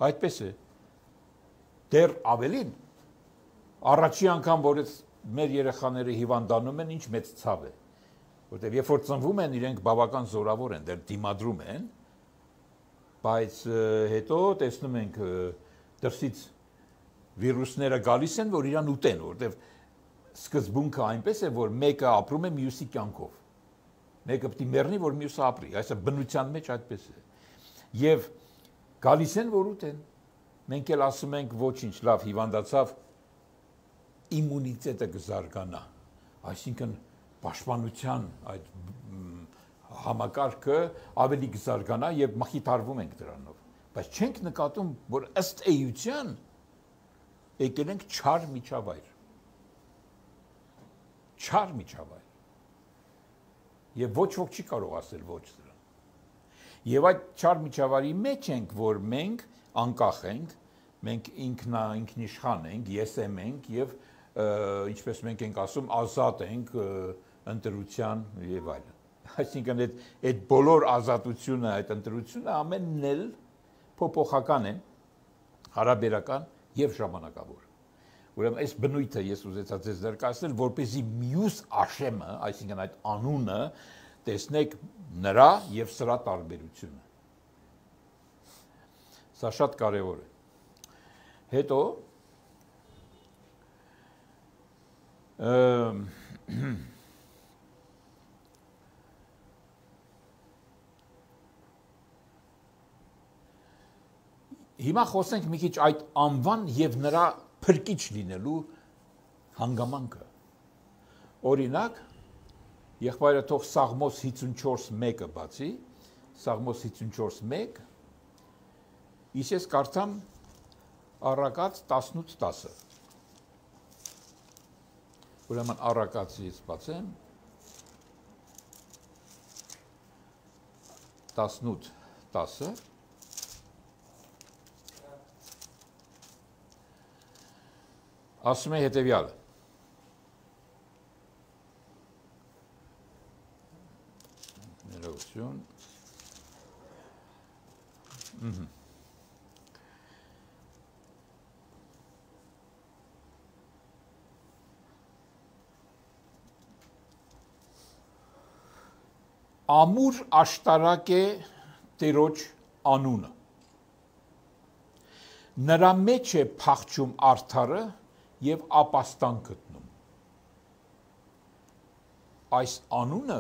Այդպես է։ Դեռ ավելին, առաջի անգամ, որ մեր երեխաները հիվանդանում են, ինչ մեծ ցավ է, որտեղ երբ որ ծնվում են, իրենք բավական զորավոր են, դեռ դիմադրում են, բայց հետո տեսնում ենք դրսից վիրուսները գալիս են, որ իրան ուտեն, որտեղ սկզբունքը այնպես է, որ մեկը ապրում է մյուսի կյանքով, մեկը պետք է մեռնի, որ մյուսը ապրի, այսինքն բնության մեջ այդպես է, եւ գալիս են, որ ուտեն։ Մենք էլ ասում ենք ոչինչ, լավ, հիվանդացավ, իմունիտետը կզարգանա, այսինքն պաշտպանության այդ համակարգը ավելի կզարգանա եւ մխիթարվում ենք դրանով, բայց չենք նկատում, որ ըստ էության եկել ենք չար միջավայր, չար միջավայր, եւ ոչ ոք չի կարող ասել ոչ դրան, եւ այդ չար միջավայրի մեջ ենք, որ մենք անկախ ենք, մենք ինքնա ինքնիշխան ենք, եսեմ ենք եւ ինչպես մենք ենք ասում, ազատ ենք ընտրության եւ այլն։ Այսինքն այդ այդ բոլոր ազատությունը, այդ ընտրությունը ամենն էլ փոփոխական է, հարաբերական եւ ժամանակավոր։ Ուրեմն այս բնույթը ես ուզեցա ձեզ ներկայացնել, որպեսզի մյուս աշեմը, այսինքն այդ անունը տեսնեք նրա եւ սրա տարբերությունը։ Սա շատ կարևոր է։ Հետո հիմա խոսենք մի քիչ այդ անվան եւ նրա փրկիչ լինելու հանգամանքը։ Օրինակ, եղբայրը թող Սաղմոս հիսունչորս մեկը բացի, Սաղմոս հիսունչորս մեկ, իսկ ես կարդամ Առակաց տասնութ տասը։ Ուրեմն Առակացից բացեմ տասնութ տասը ասում է հետևյալը. ներողություն. Ահա. ամուր աշտարակ է Տերոջ անունը։ Նրա մեջ է փախչում արդարը եւ ապաստան գտնում։ Այս անունը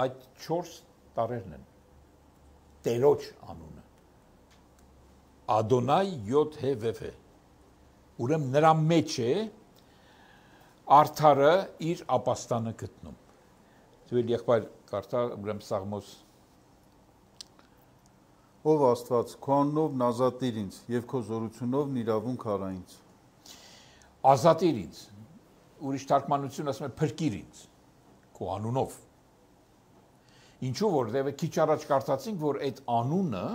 այդ չորս տարերն են։ Տերոջ անունը։ Ադոնայ յոթ հե վեվ է։ Ուրեմն նրա մեջ է արդարը իր ապաստանը գտնում։ Դու եղբայր կարդա ուրեմն Սաղմոս Ով Աստված, քո անունով նազատիր ինձ եւ քո զորությունով նիրավունք արա ինձ։ Ազատիր ինձ։ Ուրիշ թարգմանություն ասում է փրկիր ինձ քո անունով։ Ինչու որտեղ քիչ առաջ կարծացինք, որ այդ անունը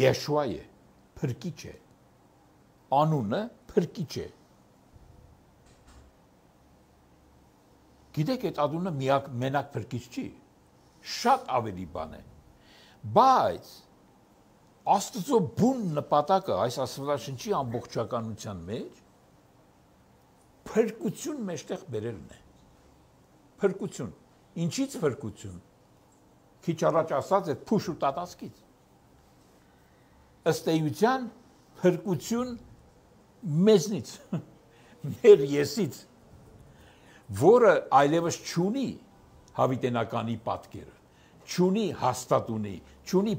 Եշուա է, փրկիչ է։ Անունը փրկիչ է։ Գիտեք, այդ անունը միակ մենակ փրկիչ չի։ Շատ ավելի բան է։ Բայց Աստծո բուն նպատակը այս Աստվածաշնչի ամբողջականության մեջ փրկություն մեջտեղ բերելն է։ Փրկություն։ Ինչից փրկություն։ Քիչ առաջ ասած այդ փուշ ու տատասկից։ Ըստ էության փրկություն մեզնից, մեր եսից, որը այլևս չունի հավիտենականի պատկերը, չունի հաստատունի, չունի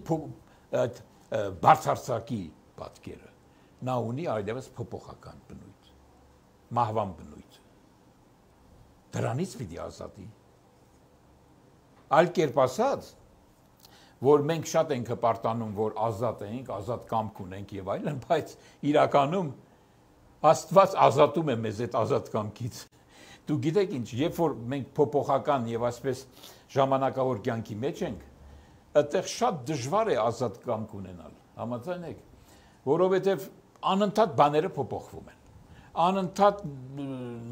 բարձրացակի պատկերը, նա ունի այլևս փոփոխական բնույթ, մահվան բնույթ։ Դրանից պիտի ազատի։ Այլ կերպ ասած, որ մենք շատ ենք հպարտանում, որ ազատ ենք, ազատ կամք ունենք եւ այլն, բայց իրականում Աստված ազատում է մեզ այդ ազատ կամքից։ Դու գիտեք ինչ, երբ որ մենք փոփոխական եւ այսպես ժամանակավոր կյանքի մեջ ենք, այդտեղ շատ դժվար է ազատ կամք ունենալ, համաձայն եք, որովհետև անընդհատ բաները փոփոխվում են, անընդհատ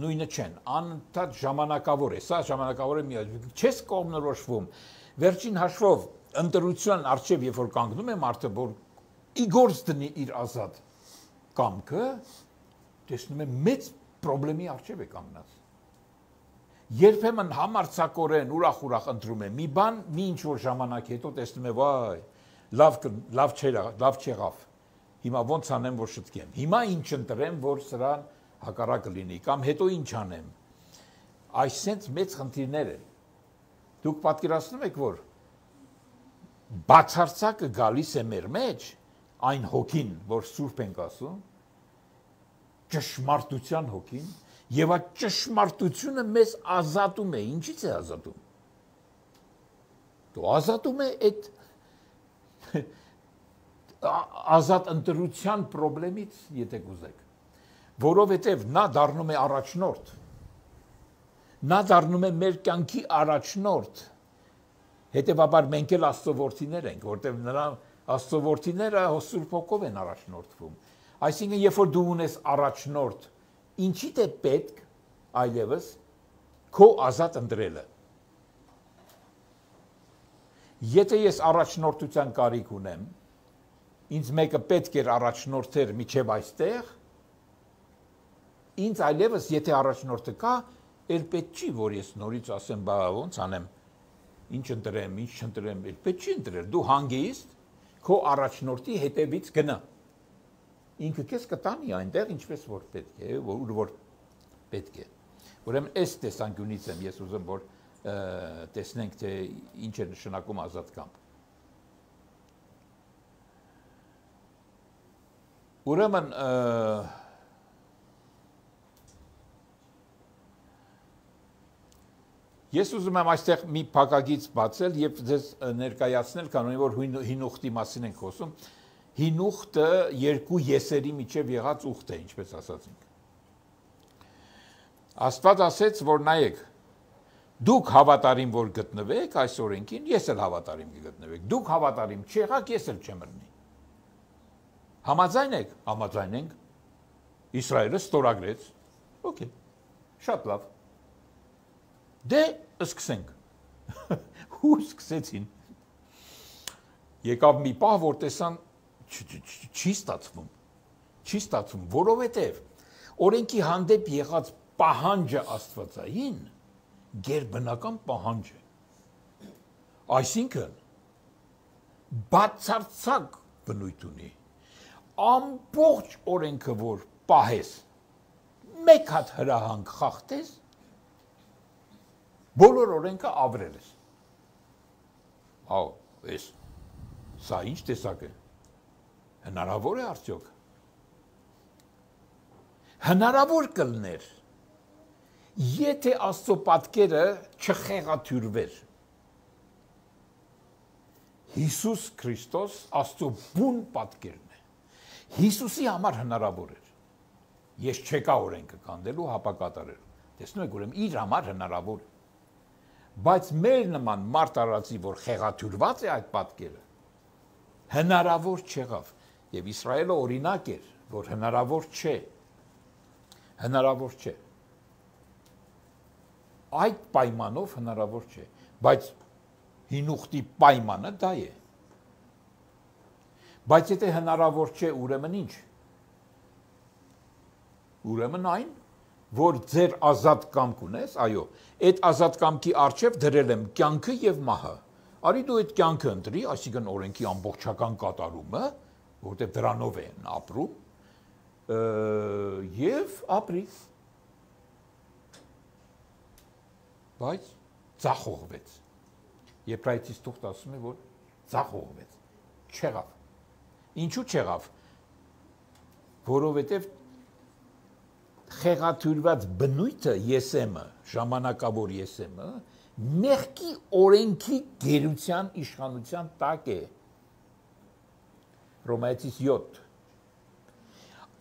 նույնը չեն, անընդհատ ժամանակավոր է, սա ժամանակավոր է միայն, չես կողմնորոշվում, վերջին հաշվով ընտրության առջև, երբ որ կանգնում է մարդը, որ ի գործ դնի իր ազատ կամքը, տեսնում է մեծ պրոբլեմի առջև է կանգնած։ Երբեմն համարձակորեն ուրախ-ուրախ ընտրում է մի բան, մի ինչ-որ ժամանակ հետո տեսնում է, վայ, լավ լավ չերա, լավ չեղավ։ Հիմա ոնց անեմ, որ շտկեմ։ Հիմա ինչ ընտրեմ, որ սրան հակառակը լինի, կամ հետո ինչ անեմ։ Այսինքն մեծ խնդիրներ են։ Դուք պատկերացնում եք, որ բացարձակը գալիս է մեր մեջ, այն հոգին, որ Սուրբ ենք ասում, ճշմարտության հոգին, եւ այդ ճշմարտությունը մեզ ազատում է, ինչից է ազատում։ Դու ազատում է այդ ազատ ընտրության խնդրից, եթե կուզեք, որովհետեւ նա դառնում է առաջնորդ։ Նա դառնում է մեր կյանքի առաջնորդ։ Հետևաբար մենք էլ Աստծո որդիներ ենք, որտեղ նրա Աստծո որդիները Սուրբ Հոգով են առաջնորդվում։ Այսինքն, երբ որ դու ունես առաջնորդ, ինչի՞դ է պետք այլևս քո ազատ ընտրելը։ Եթե ես առաջնորդության կարիք ունեմ, ինձ մեկը պետք էր առաջնորդեր միջև այստեղ, ինձ այլևս եթե առաջնորդը կա, էլ պետք չի, որ ես նորից ասեմ, բա ոնց անեմ, ինչ ընտրեմ, ինչ չընտրեմ, էլ պետք չի ընտրել, դու հանգիստ քո առաջնորդի հետևից գնա։ Ինքը քեզ կտանի այնտեղ, ինչպես որ պետք է, որ որ պետք է։ Ուրեմն այս տեսանկյունից եմ ես ուզում, որ տեսնենք, թե ինչ է նշանակում ազատ կամք։ Ուրեմն ես ուզում եմ այստեղ մի փակագից բացել եւ ձեզ ներկայացնել, կանոնի որ հին ուխտի մասին ենք խոսում։ Հին ուխտը երկու եսերի միջև եղած ուխտ է, ինչպես ասացինք։ Աստված ասեց, որ նայեք, դուք հավատարիմ որ գտնվեք այս օրենքին, ես էլ հավատարիմ կգտնվեք։ Դուք հավատարիմ չեղաք, ես էլ չեմ ըրնի։ Համաձայն եք, համաձայն ենք։ Իսրայելը ստորագրեց։ Okay, շատ լավ։ Դե սկսենք։ Ու սկսեցին։ Եկավ մի պահ, որ տեսան չի ստացվում, չի ստացվում, որովհետև օրենքի հանդեպ եղած պահանջը աստվածային գերբնական պահանջ է։ Այսինքն բացարձակ բնույթ ունի։ Ամբողջ օրենքը որ պահես, մեկ հատ հրահանգ խախտես, բոլոր օրենքը ավրել ես։ Ահա, էս սա ինչ տեսակ է։ Հնարավոր է արդյոք։ Հնարավոր կլներ, եթե Աստծո պատկերը չխեղաթյուրվեր։ Հիսուս Քրիստոս Աստծո բուն պատկերն է։ Հիսուսի համար հնարավոր էր։ Ես չեկա օրենքը կանդելու, հապակատարելու։ Տեսնում եք, ուրեմն իր համար հնարավոր է։ Բայց մեր նման մարդ արածի, որ խեղաթյուրված է այդ պատկերը, հնարավոր չեղավ։ Եվ Իսրայելը օրինակ էր, որ հնարավոր չէ։ Հնարավոր չէ։ Այդ պայմանով հնարավոր չէ, բայց հին ուխտի պայմանը դա է։ Բայց եթե հնարավոր չէ, ուրեմն ինչ։ Ուրեմն այն, որ ձեր ազատ կամք ունես, այո, այդ ազատ կամքի առջև դրել եմ կյանքը եւ մահը։ Արի դու այդ կյանքը ընտրի, այսինքն օրենքի ամբողջական կատարումը, որտեղ դրանով են ապրում, եւ ապրի։ Բայց ծախողվեց։ Եբրայեցիս թուղթ ասում է, որ ծախողվեց։ Չեղավ։ Ինչու չեղավ։ Որովհետեւ խեղաթյուրված բնույթը եսեմը, ժամանակավոր եսեմը, մեղքի օրենքի գերության իշխանության տակ է։ Հռոմեացիս յոթ։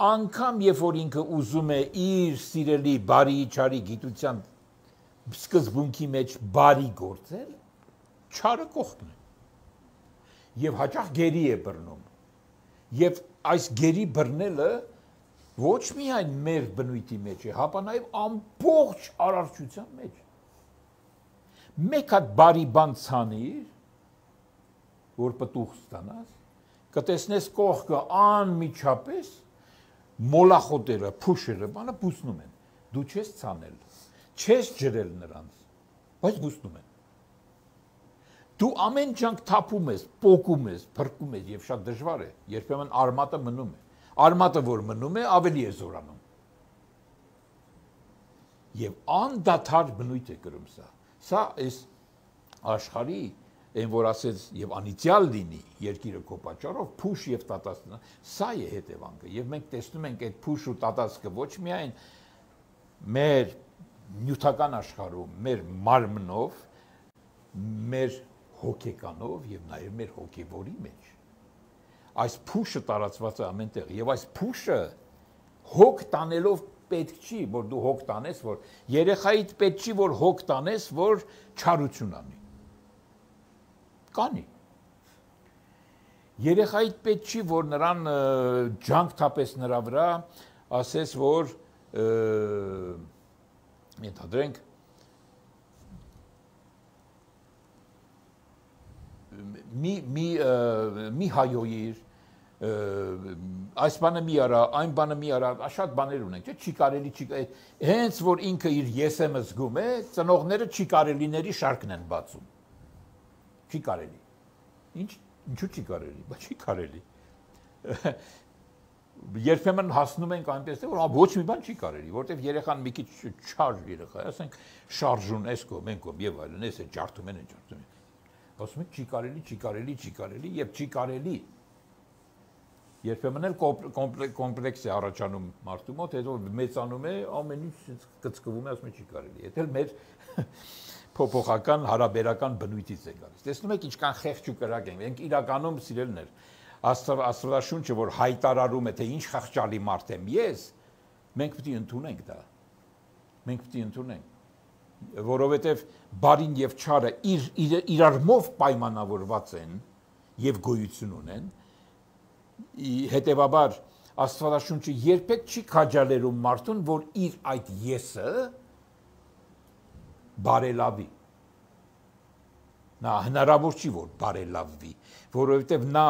Անկամ երբ որ ինքը ուզում է իր սիրելի բարի չարի գիտության սկզբունքի մեջ բարի գործել, չարը կողքն է։ Եվ հաճախ գերի է բռնում։ Եվ այս գերի բռնելը ոչ միայն մեր բնույթի մեջ է, հապա նաև ամբողջ արարչության մեջ։ Մեկ հատ բարի բան ցանիր, որ պտուղ ստանաս, կտեսնես կողքը անմիջապես մոլախոտերը, փուշերը, բանը բուսնում են։ Դու չես ցանել, չես ջրել նրանց, բայց բուսնում են։ Դու ամեն ջանք թափում ես, պոկում ես, փրկում ես եւ շատ դժվար է, երբեմն արմատը մնում է։ Արմատը որ մնում է, ավելի է զորանում։ Եվ անդադար բնույթ է կրում սա։ Սա այս աշխարհի այն որ ասեց եւ անիցիալ լինի երկիրը քո պատճառով փուշ եւ տատասն, սա է հետևանքը։ Եվ մենք տեսնում ենք այդ փուշ ու տատասկը ոչ միայն մեր նյութական աշխարհում, մեր մարմնով, մեր հոգեկանով եւ նաեւ մեր հոգեվորի մեջ։ Այս փուշը տարածված է ամենտեղ եւ այս փուշը հոգ տանելով պետք չի, որ դու հոգ տանես, որ երեխայիդ պետք չի, որ հոգ տանես, որ չարություն անի։ Կանի։ Երեխայիդ պետք չի, որ նրան ջանք թափես նրա վրա, ասես, որ ենթադրենք մի մի մի հայոյիր այս բանը մի արա, այն բանը մի արա, շատ բաներ ունենք, չէ՞, չի կարելի, չի հենց որ ինքը իր եսեմը զգում է, ծնողները չի կարելիների շարքն են բացում։ Չի կարելի։ Ինչ, ինչու չի կարելի, բայց չի կարելի։ Երբեմն հասնում ենք այնպես, որ ոչ մի բան չի կարելի, որտեղ երեխան մի քիչ չար երեխա է, ասենք շարժուն էս կողմ, այն կողմ եւ այլն, էս է ջարդում են, ջարդում են։ Ասում են չի կարելի, չի կարելի, չի կարելի եւ չի կարելի։ Երբեմն էլ կոմպլեքս է առաջանում մարդու մոտ, հետո մեծանում է, ամեն ինչ կծկվում է, ասում է չի կարելի։ Եթե մեր փոփոխական հարաբերական բնույթից է գալիս։ Տեսնում եք ինչքան խեղճ ու կրակ են։ Մենք իրականում սիրելիներ, Աստվածաշունչը որ հայտարարում է, թե ինչ խղճալի մարդ եմ ես, մենք պետք է ընդունենք դա։ Մենք պետք է ընդունենք, որովհետև բարին եւ չարը իր իրարմով պայմանավորված են եւ գոյություն ունեն։ Հետևաբար Աստվածաշունչը երբեք չի քաջալերում մարդուն, որ իր այդ եսը բարելավի։ Նա հնարավոր չի, որ բարելավվի, որովհետև նա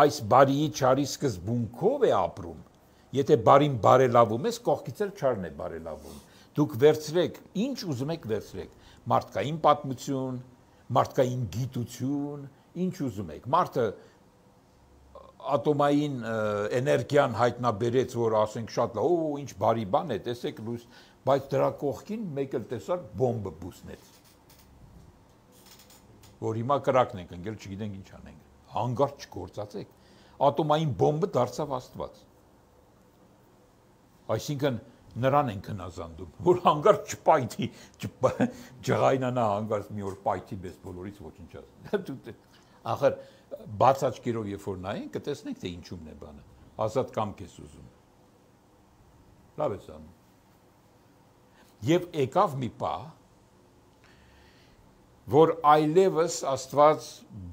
այս բարիի չարի սկզբունքով է ապրում։ Եթե բարին բարելավում ես, կողքից էլ չարն է բարելավում։ Դուք վերցրեք, ինչ ուզում եք վերցրեք, մարդկային պատմություն, մարդկային գիտություն, ինչ ուզում եք։ Մարդը ատոմային էներգիան հայտնաբերեց, որ ասենք շատ լավ, օ, ինչ բարի բան է, տեսեք լույս, բայց դրա կողքին մեկ էլ տեսար բոմբը բուսնեց։ Որ հիմա կրակն ենք ընկել, չգիտենք ինչ անենք։ Հանգարտ չգործացեք։ Ատոմային բոմբը դարձավ Աստված։ Այսինքն նրան են քնազանդում, որ հանգարտ չպայթի, ջղայնանա հանգարտ մի օր պայթի մեզ բոլորից ոչնչացնի։ Ախր բաց աչքերով երբ որ նայենք, կտեսնենք թե ինչումն է բանը։ Ազատ կամք ես ուզում։ Լավ ես անում։ Եվ եկավ մի պահ, որ այլևս Աստված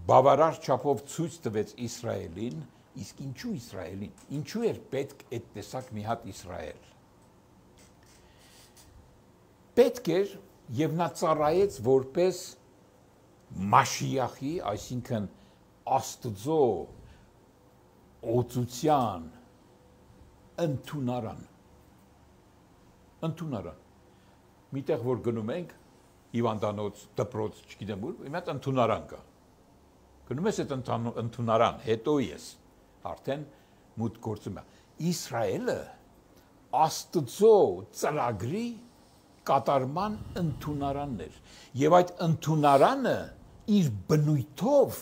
բավարար չափով ցույց տվեց Իսրայելին, իսկ ինչու Իսրայելին, ինչու էր պետք այդ տեսակ մի հատ Իսրայել։ Պետք էր եւ նա ծառայեց որպես Մաշիախի, այսինքն Աստծո օծության ընդունարան։ Ընդունարան։ Միտեղ որ գնում ենք Հիվանդանոց, դպրոց, չգիտեմ ուր, մի հատ ընդունարան կա։ Գնում ես այդ ընդունարան, հետո ես արդեն մուտք գործում է։ Իսրայելը Աստծո ծրագրի կատարման ընդունարանն էր։ Եվ այդ ընդունարանը իր բնույթով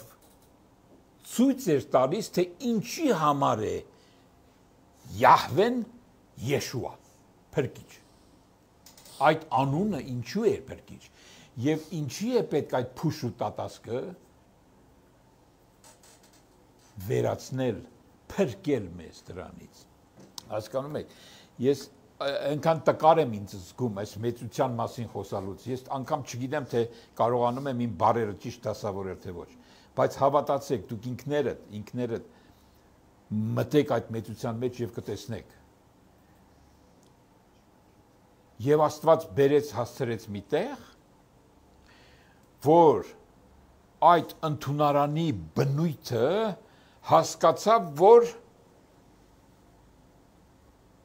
ցույց էր տալիս, թե ինչի համար է Յահվեն Եշուա, փրկիչ։ Այդ անունը ինչու է փրկիչ։ Եվ ինչի է պետք այդ փուշ ու տատասկը վերացնել, փրկել մեզ դրանից։ Հասկանում եք, ես այնքան տկար եմ ինձ զգում այս մեծության մասին խոսալուց, ես անգամ չգիտեմ, թե կարողանում եմ իմ բարերը ճիշտ դասավորել թե ոչ, բայց հավատացեք, դուք ինքներդ, ինքներդ մտեք այդ մեծության մեջ եւ կտեսնեք։ Եվ Աստված բերեց հասցրեց մի տեղ, որ այդ ընդունարանի բնույթը հասկացավ, որ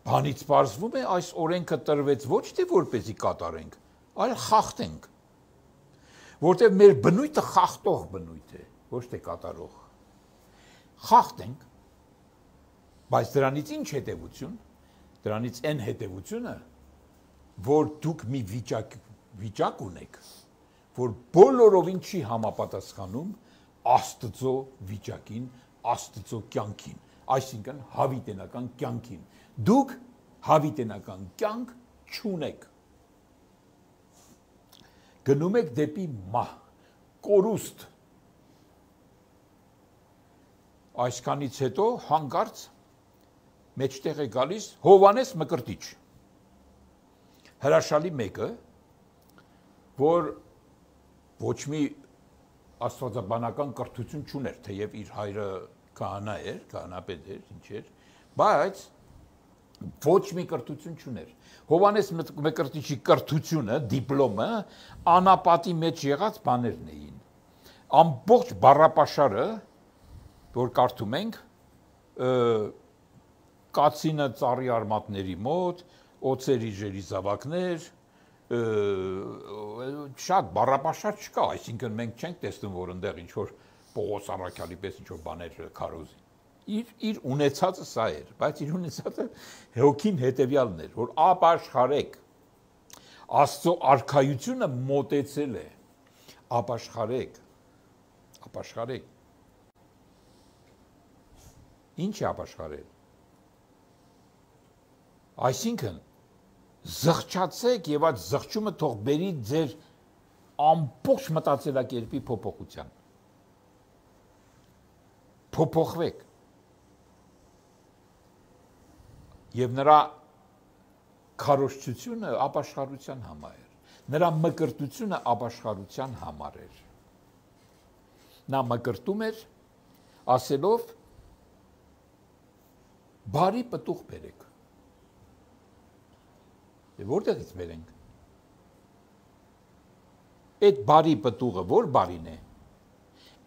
բանից պարզվում է այս օրենքը տրվեց ոչ թե որպեսզի կատարենք, այլ խախտենք, որտեղ մեր բնույթը խախտող բնույթ է, ոչ թե կատարող։ Խախտենք, բայց դրանից ինչ հետևություն, դրանից այն հետևությունը, որ դուք մի վիճակ, վիճակ ունեք, որ բոլորովին չի համապատասխանում Աստծո վիճակին, Աստծո կյանքին, այսինքն հավիտենական կյանքին։ Դուք հավիտենական կյանք չունեք։ Գնում եք դեպի մահ, կորուստ։ Այսքանից հետո հանկարծ մեջտեղ է գալիս Հովհաննես Մկրտիչ։ Հրաշալի մեկը, որ ոչ մի աստվածաբանական կրթություն չուներ, թեև իր հայրը քահանա էր, քահանապետ էր, ինչ էր, բայց ոչ մի կրթություն չուներ։ Հովհաննես Մկրտիչի կրթությունը, դիպլոմը անապատի մեջ եղած բաներն էին։ Ամբողջ բառապաշարը, որ կարդում ենք, կացինը ծառի արմատների մոտ, օծերի ժերի զավակներ, շատ բառապաշար չկա, այսինքն մենք չենք տեսնում, որ այնտեղ ինչ որ Պողոս Առաքյալի պես ինչ որ բաներ քարոզի։ Իր իր ունեցածը սա էր, բայց իր ունեցածը հոգին հետևյալն էր, որ ապաշխարեք։ Աստծո արքայությունը մոտեցել է։ Ապաշխարեք։ Ապաշխարեք։ Ինչ է ապաշխարել։ Այսինքն զղջացեք եւ այդ զղջումը թող բերի ձեր ամբողջ մտածելակերպի փոփոխության։ Փոփոխվեք։ Եվ նրա քարոզչությունը ապաշխարության համար էր։ Նրա մկրտությունը ապաշխարության համար էր։ Նա մկրտում էր ասելով բարի պտուղ բերեք։ Եվ որտեղից բերենք։ Այդ բարի պտուղը որ բարին է։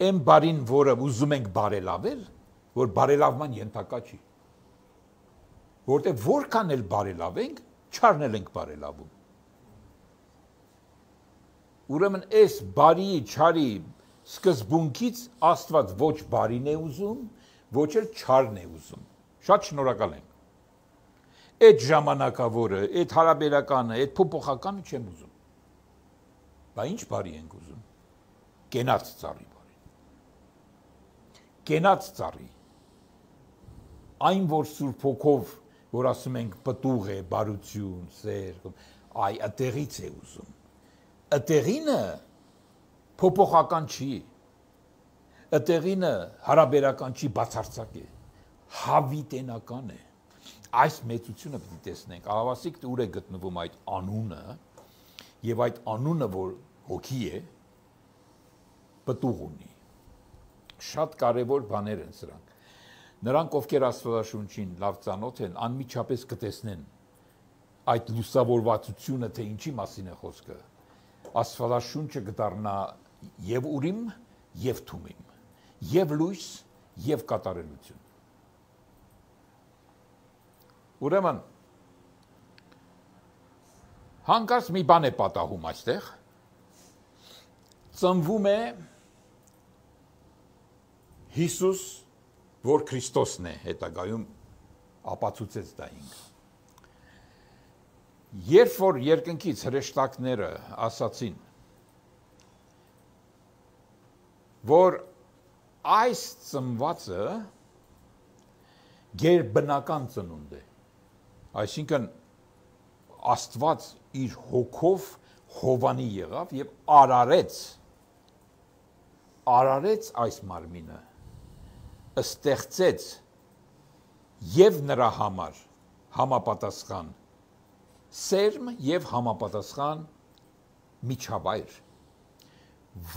Այն բարին, որը ուզում ենք բարելավել, որ բարելավման ենթակա չի։ Որտեղ որքան էլ բարելավենք, չարնել ենք բարելավում։ Ուրեմն այս բարի, չարի սկզբունքից Աստված ոչ բարին է ուզում, ոչ էլ չարն է ուզում։ Շատ շնորհակալ եմ։ Այդ ժամանակավորը, այդ հարաբերականը, այդ փոփոխականը չեմ ուզում։ Բա ինչ բարի ենք ուզում։ Կենաց ծառի բարի։ Կենաց ծառի։ Այն որ Սուրբ Հոգով, որ ասում ենք պտուղ է, բարություն, սեր, այ այդտեղից է ուզում։ Այդտեղինը փոփոխական չի։ Այդտեղինը հարաբերական չի, բացարձակ է։ Հավիտենական է։ Այս մեծությունը պիտի տեսնենք։ Ահավասիկ ուր է գտնվում այդ անունը, եւ այդ անունը, որ հոգի է, պտուղ ունի։ Շատ կարևոր բաներ են սրանք։ Նրանք, ովքեր Աստվածաշունչին լավ ծանոթ են, անմիջապես կտեսնեն այդ լուսավորվածությունը, թե ինչի մասին է խոսքը։ Աստվածաշունչը կդառնա եւ ուրիմ, եւ թումիմ, եւ լույս, եւ կատարելություն։ Ուրեմն հանկարծ մի բան է պատահում այստեղ։ Ծնվում է Հիսուս, որ Քրիստոսն է, հետագայում ապացուցեց դա ինքը։ Երբ որ երկնքից հրեշտակները ասացին, որ այս ծնվածը գերբնական ծնունդ է, այսինքն Աստված իր հոգով հովանի եղավ եւ արարեց, արարեց այս մարմինը, ստեղծեց եւ նրա համար համապատասխան սերմ եւ համապատասխան միջավայր,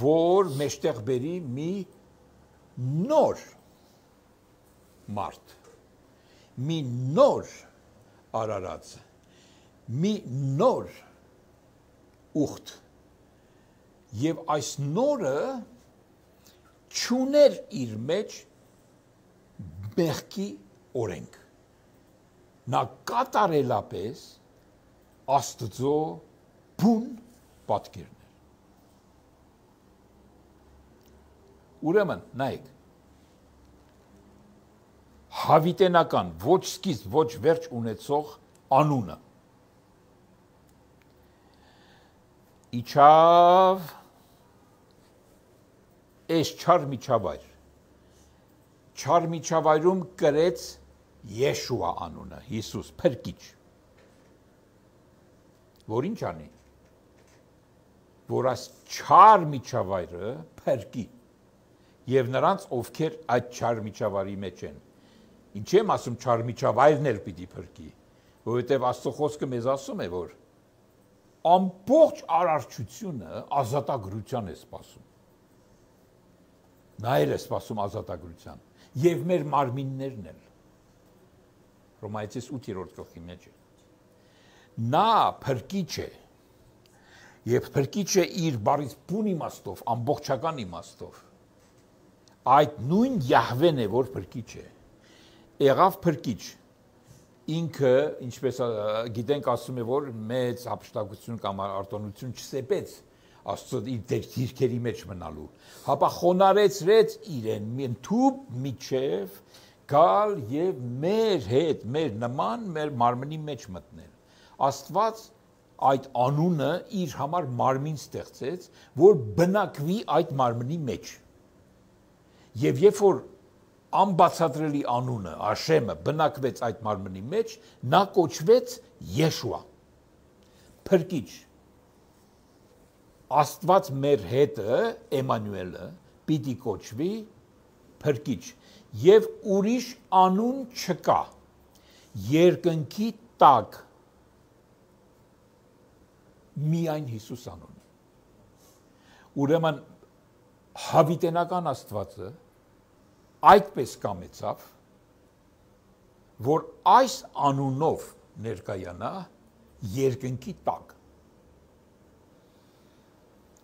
որ մեջտեղ բերի մի նոր մարդ, մի նոր արարած, մի նոր ուխտ, եւ այս նորը չուներ իր մեջ մեղքի օրենք, նա կատարելապես Աստծո բուն պատկերն էր։ Ուրեմն, նայեք, հավիտենական, ոչ սկիզբ, ոչ վերջ ունեցող անունը։ Իջավ այս չար միջավայր, չար միջավայրում կրեց Եշուա անունը, Հիսուս, փրկիչ, որ ինչ անի, որ այս չար միջավայրը փրկի, եւ նրանց, ովքեր այդ չար միջավայրի մեջ են։ Ինչ եմ ասում, չար միջավայրն էլ պիտի փրկի, որովհետեւ Աստծո խոսքը մեզ ասում է, որ ամբողջ արարչությունը ազատագրության է սպասում։ Նա էլ է սպասում ազատագրության, եւ մեր մարմիններն էլ։ Հռոմայեցիս ութերորդ գլխի մեջ է։ Նա փրկիչ է, եւ փրկիչ է իր բառից բուն իմաստով, ամբողջական իմաստով։ Այդ նույն Յահվեն է, որ փրկիչ է։ Եղավ փրկիչ։ Ինքը, ինչպես գիտենք, ասում է, որ մեծ հափշտակություն կամ արտոնություն չսեպեց Աստծո իր դիրքերի մեջ մնալու, հապա խոնարեցրեց իրեն ընդհուպ միջև գալ եւ մեր հետ, մեր նման, մեր մարմնի մեջ մտնել։ Աստված այդ անունը իր համար մարմին ստեղծեց, որ բնակվի այդ մարմնի մեջ։ Եվ երբ որ անբացատրելի անունը, Աշեմը բնակվեց այդ մարմնի մեջ, նա կոչվեց Եշուա, փրկիչ։ Աստված մեր հետը, Էմանուելը, պիտի կոչվի փրկիչ, եւ ուրիշ անուն չկա, երկնքի տակ միայն Հիսուս անունը։ Ուրեմն հավիտենական Աստվածը այդպես կամեցավ, որ այս անունով ներկայանա երկնքի տակ։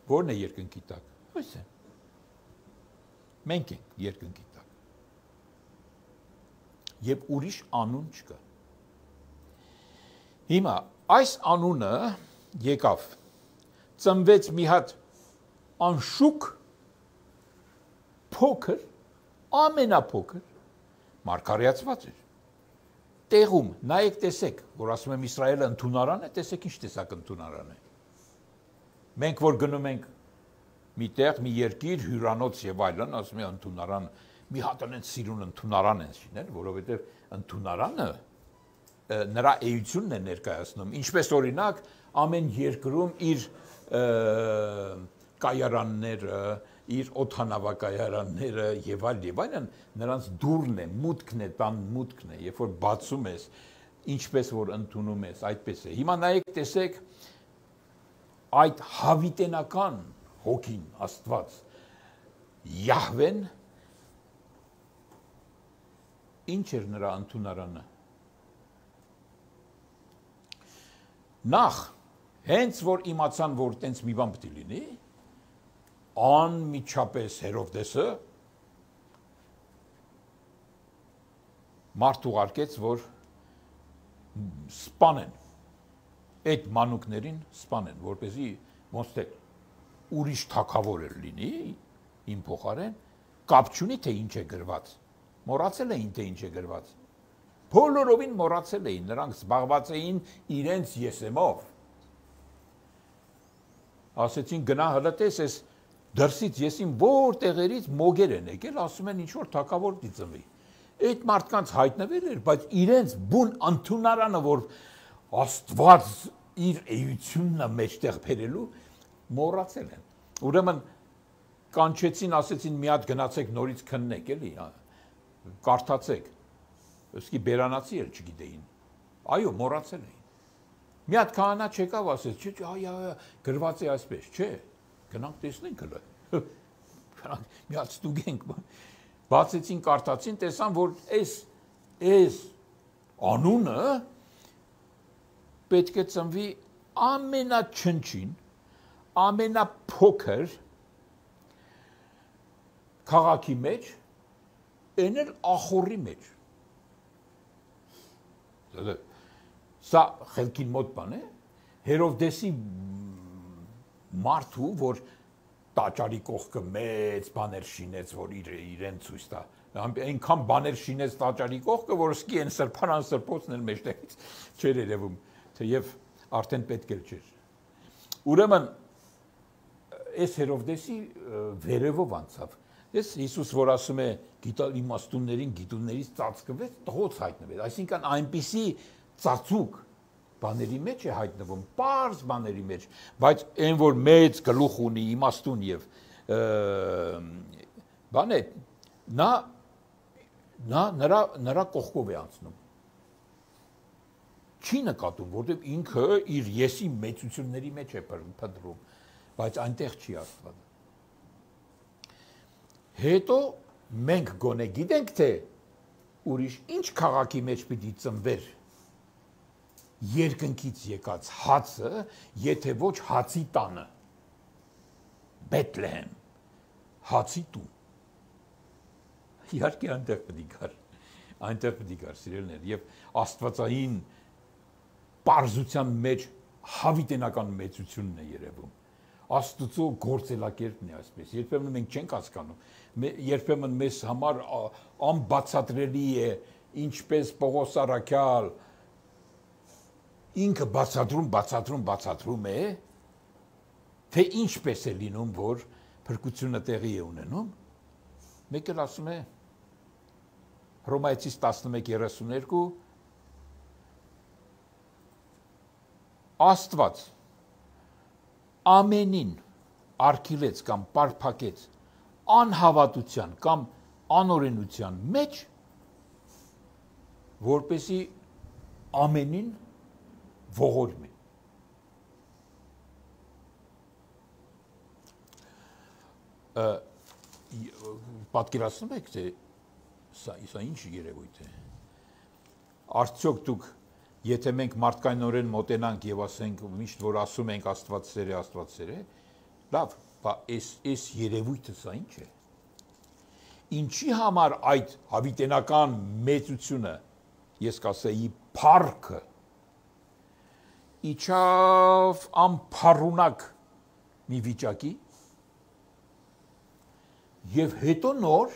Որն է երկնքի տակ։ Այս է։ Մենք ենք երկնքի տակ։ Եվ ուրիշ անուն չկա։ Հիմա այս անունը եկավ ծնվեց մի հատ անշուք փոքր, ամենափոքր մարգարեացված էր։ Տեղում, նայեք տեսեք, որ ասում եմ Իսրայելը ընդունարան է, տեսեք ինչ տեսակ ընդունարան է։ Մենք որ գնում ենք մի տեղ, մի երկիր, հյուրանոց եւ այլն, ասում եմ ընդունարան, մի հատ այնց սիրուն ընդունարան են շինել, որովհետեւ ընդունարանը նրա էությունն է ներկայացնում։ Ինչպես օրինակ, ամեն երկրում իր կայարանները, իր օդանավակայարանները եւ այլ եւ այլն նրանց դուրն է, մուտքն է, տան մուտքն է, երբ որ բացում ես, ինչպես որ ընդունում ես, այդպես է։ Հիմա նայեք, տեսեք այդ հավիտենական հոգին, Աստված, Յահվեն, ինչ էր նրա ընդունարանը։ Նախ, հենց որ իմացան, որ տենց մի բան պետք է լինի, անմիջապես Հերովդեսը մարդ ուղարկեց, որ սպանեն, այդ մանուկներին սպանեն, որպեսզի ոնց թե ուրիշ թագավոր էր լինի, իմ փոխարեն, կապ չունի, թե ինչ է գրված, մոռացել էին, թե ինչ է գրված, բոլորովին մոռացել էին, նրանք զբաղված էին իրենց եսեմով, ասեցին գնա հլտես, ես դրսից եսին որ տեղերից մոգեր են եկել, ասում են ինչ-որ թագավոր պիտի ծնվի։ Այդ մարդկանց հայտնվել էր, բայց իրենց բուն ընդունարանը, որ Աստված իր էությունն է մեջտեղ բերելու, մոռացել են։ Ուրեմն կանչեցին, ասեցին մի հատ գնացեք նորից քննեք, էլի, կարդացեք։ Ոսկի բերանացի էլ չգիտեին։ Այո, մոռացել էին։ Մի հատ քահանա չեկավ, ասեց, չէ, այ, այ, գրված է այսպես, չէ։ Գնանք տեսնենք հլը, գնանք մի հատ ստուգենք, բացեցին, կարդացին, տեսան, որ այս, այս անունը պետք է ծնվի ամենաչնչին, ամենափոքր քաղաքի մեջ, այն էլ ախորի մեջ։ Սա խելքին մոտ բան է, Հերովդեսի մարդու, որ տաճարի կողքը մեծ բաներ շինեց, որ իրեն ցույց տա, այնքան բաներ շինեց տաճարի կողքը, որ սկի են սրբարան սրբոցն էլ մեջտեղից չէր երևում, թեև արդեն պետք էլ չէր։ Ուրեմն այս Հերովդեսի վերևով անցավ։ Ես Հիսուս, որ ասում է գիտալ իմաստուններին գիտուններից ծածկվեց, տղոց հայտնվեց, այսինքն այնպիսի ծածուկ բաների մեջ է հայտնվում, պարզ բաների մեջ, բայց այն, որ մեծ գլուխ ունի, իմաստուն եւ բան է, նա նա նրա նրա կողքով է անցնում։ Չի նկատում, որտեղ ինքը իր եսի մեծությունների մեջ է փնտրում, բայց այնտեղ չի Աստված։ Հետո մենք գոնե գիտենք, թե ուրիշ ինչ քաղաքի մեջ պիտի ծնվեր երկնքից եկած հացը, եթե ոչ հացի տանը, Բեթլեհեմ, հացի տուն։ Իհարկե այնտեղ պետք է գար, այնտեղ պետք է գար, սիրելիներ, եւ աստվածային պարզության մեջ հավիտենական մեծությունն է երևում։ Աստծո գործելակերպն է այսպես։ Երբեմն մենք չենք հասկանում, երբեմն մեզ համար անբացատրելի է, ինչպես Պողոս Առաքյալ ինքը բացատրում, բացատրում, բացատրում է, թե ինչպես է լինում, որ փրկությունը տեղի է ունենում։ Մեկ էլ ասում է Հռոմայեցիս տասնմեկ երեսուներկու Աստված ամենին արգելեց կամ պարփակեց անհավատության կամ անօրենության մեջ, որպեսի ամենին ողորմի։ Պատկերացնում եք, թե սա, սա ինչ երևույթ է։ Արդյոք դուք, եթե մենք մարդկայնորեն մոտենանք եւ ասենք, միշտ որ ասում ենք Աստված սեր է, Աստված սեր է, լավ, բա այս այս երևույթը սա ինչ է։ Ինչի համար այդ հավիտենական մեծությունը, ես կասեի, փառքը իջավ անփառունակ մի վիճակի եւ հետո նոր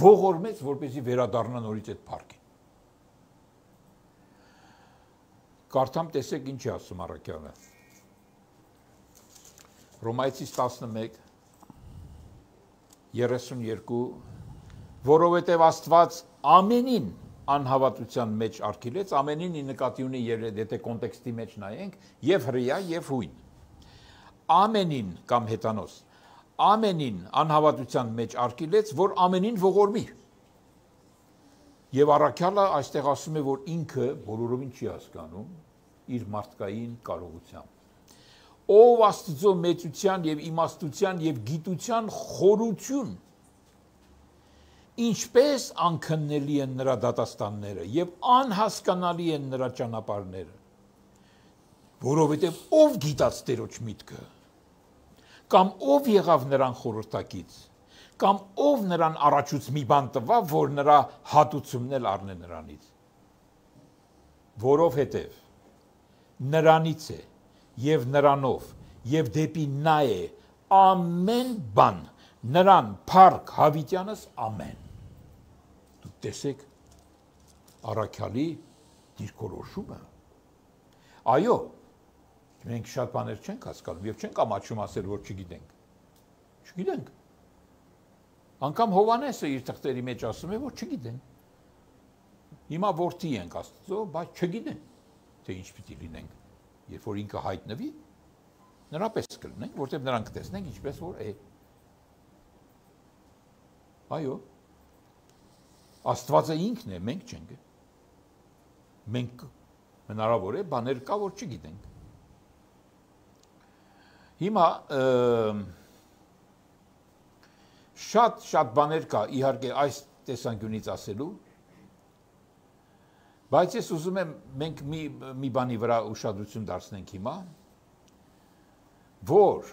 ողորմեց, որպեսզի վերադառնա նորից այդ փառքին։ Կարդամ, տեսեք ինչ է ասում առաքյալը։ Հռոմայացիս տասնմեկ երեսունյերկու, որովհետև Աստված ամենին անհավատության մեջ արգելեց, ամենին ի նկատի ունի, եթե կոնտեքստի մեջ նայենք, եւ հրեա, եւ հույն։ Ամենին կամ հետանոց, ամենին անհավատության մեջ արգելեց, որ ամենին ողորմի։ Եվ առաքյալը այստեղ ասում է, որ ինքը բոլորովին չի հասկանում իր մարդկային կարողությամբ։ Ով Աստծո մեծության եւ իմաստության եւ գիտության խորություն, ինչպես անքննելի են նրա դատաստանները եւ անհասկանալի են նրա ճանապարհները, որովհետեւ ով գիտած Տերոջ միտքը, կամ ով եղավ նրան խորհրդակից, կամ ով նրան առաջուց մի բան տվավ, որ նրա հատուցումն էլ առնե նրանից, որովհետեւ նրանից է եւ նրանով եւ դեպի նա է ամեն բան, նրան փառք հավիտյանս ամեն։ Դուք տեսեք առաքյալի դիրքորոշումը։ Այո, մենք շատ բաներ չենք հասկանում եւ չենք ամաչում ասել, որ չգիտենք։ Չգիտենք։ Անկամ Հովանեսը իր թղթերի մեջ ասում է, որ չգիտենք։ Հիմա որդի ենք Աստծո, բայց չգիտենք, թե ինչ պիտի լինենք։ Երբ որ ինքը հայտնվի, նրա պես կլինենք, որտեղ նրանք տեսնենք ինչպես որ է։ Այո։ Աստվածը ինքն է, մենք չենք։ Մենք հնարավոր է բաներ կա, որ չգիտենք։ Հիմա շատ շատ բաներ կա, իհարկե այս տեսանկյունից ասելու, բայց ես ուզում եմ մենք մի մի բանի վրա ուշադրություն դարձնենք հիմա, որ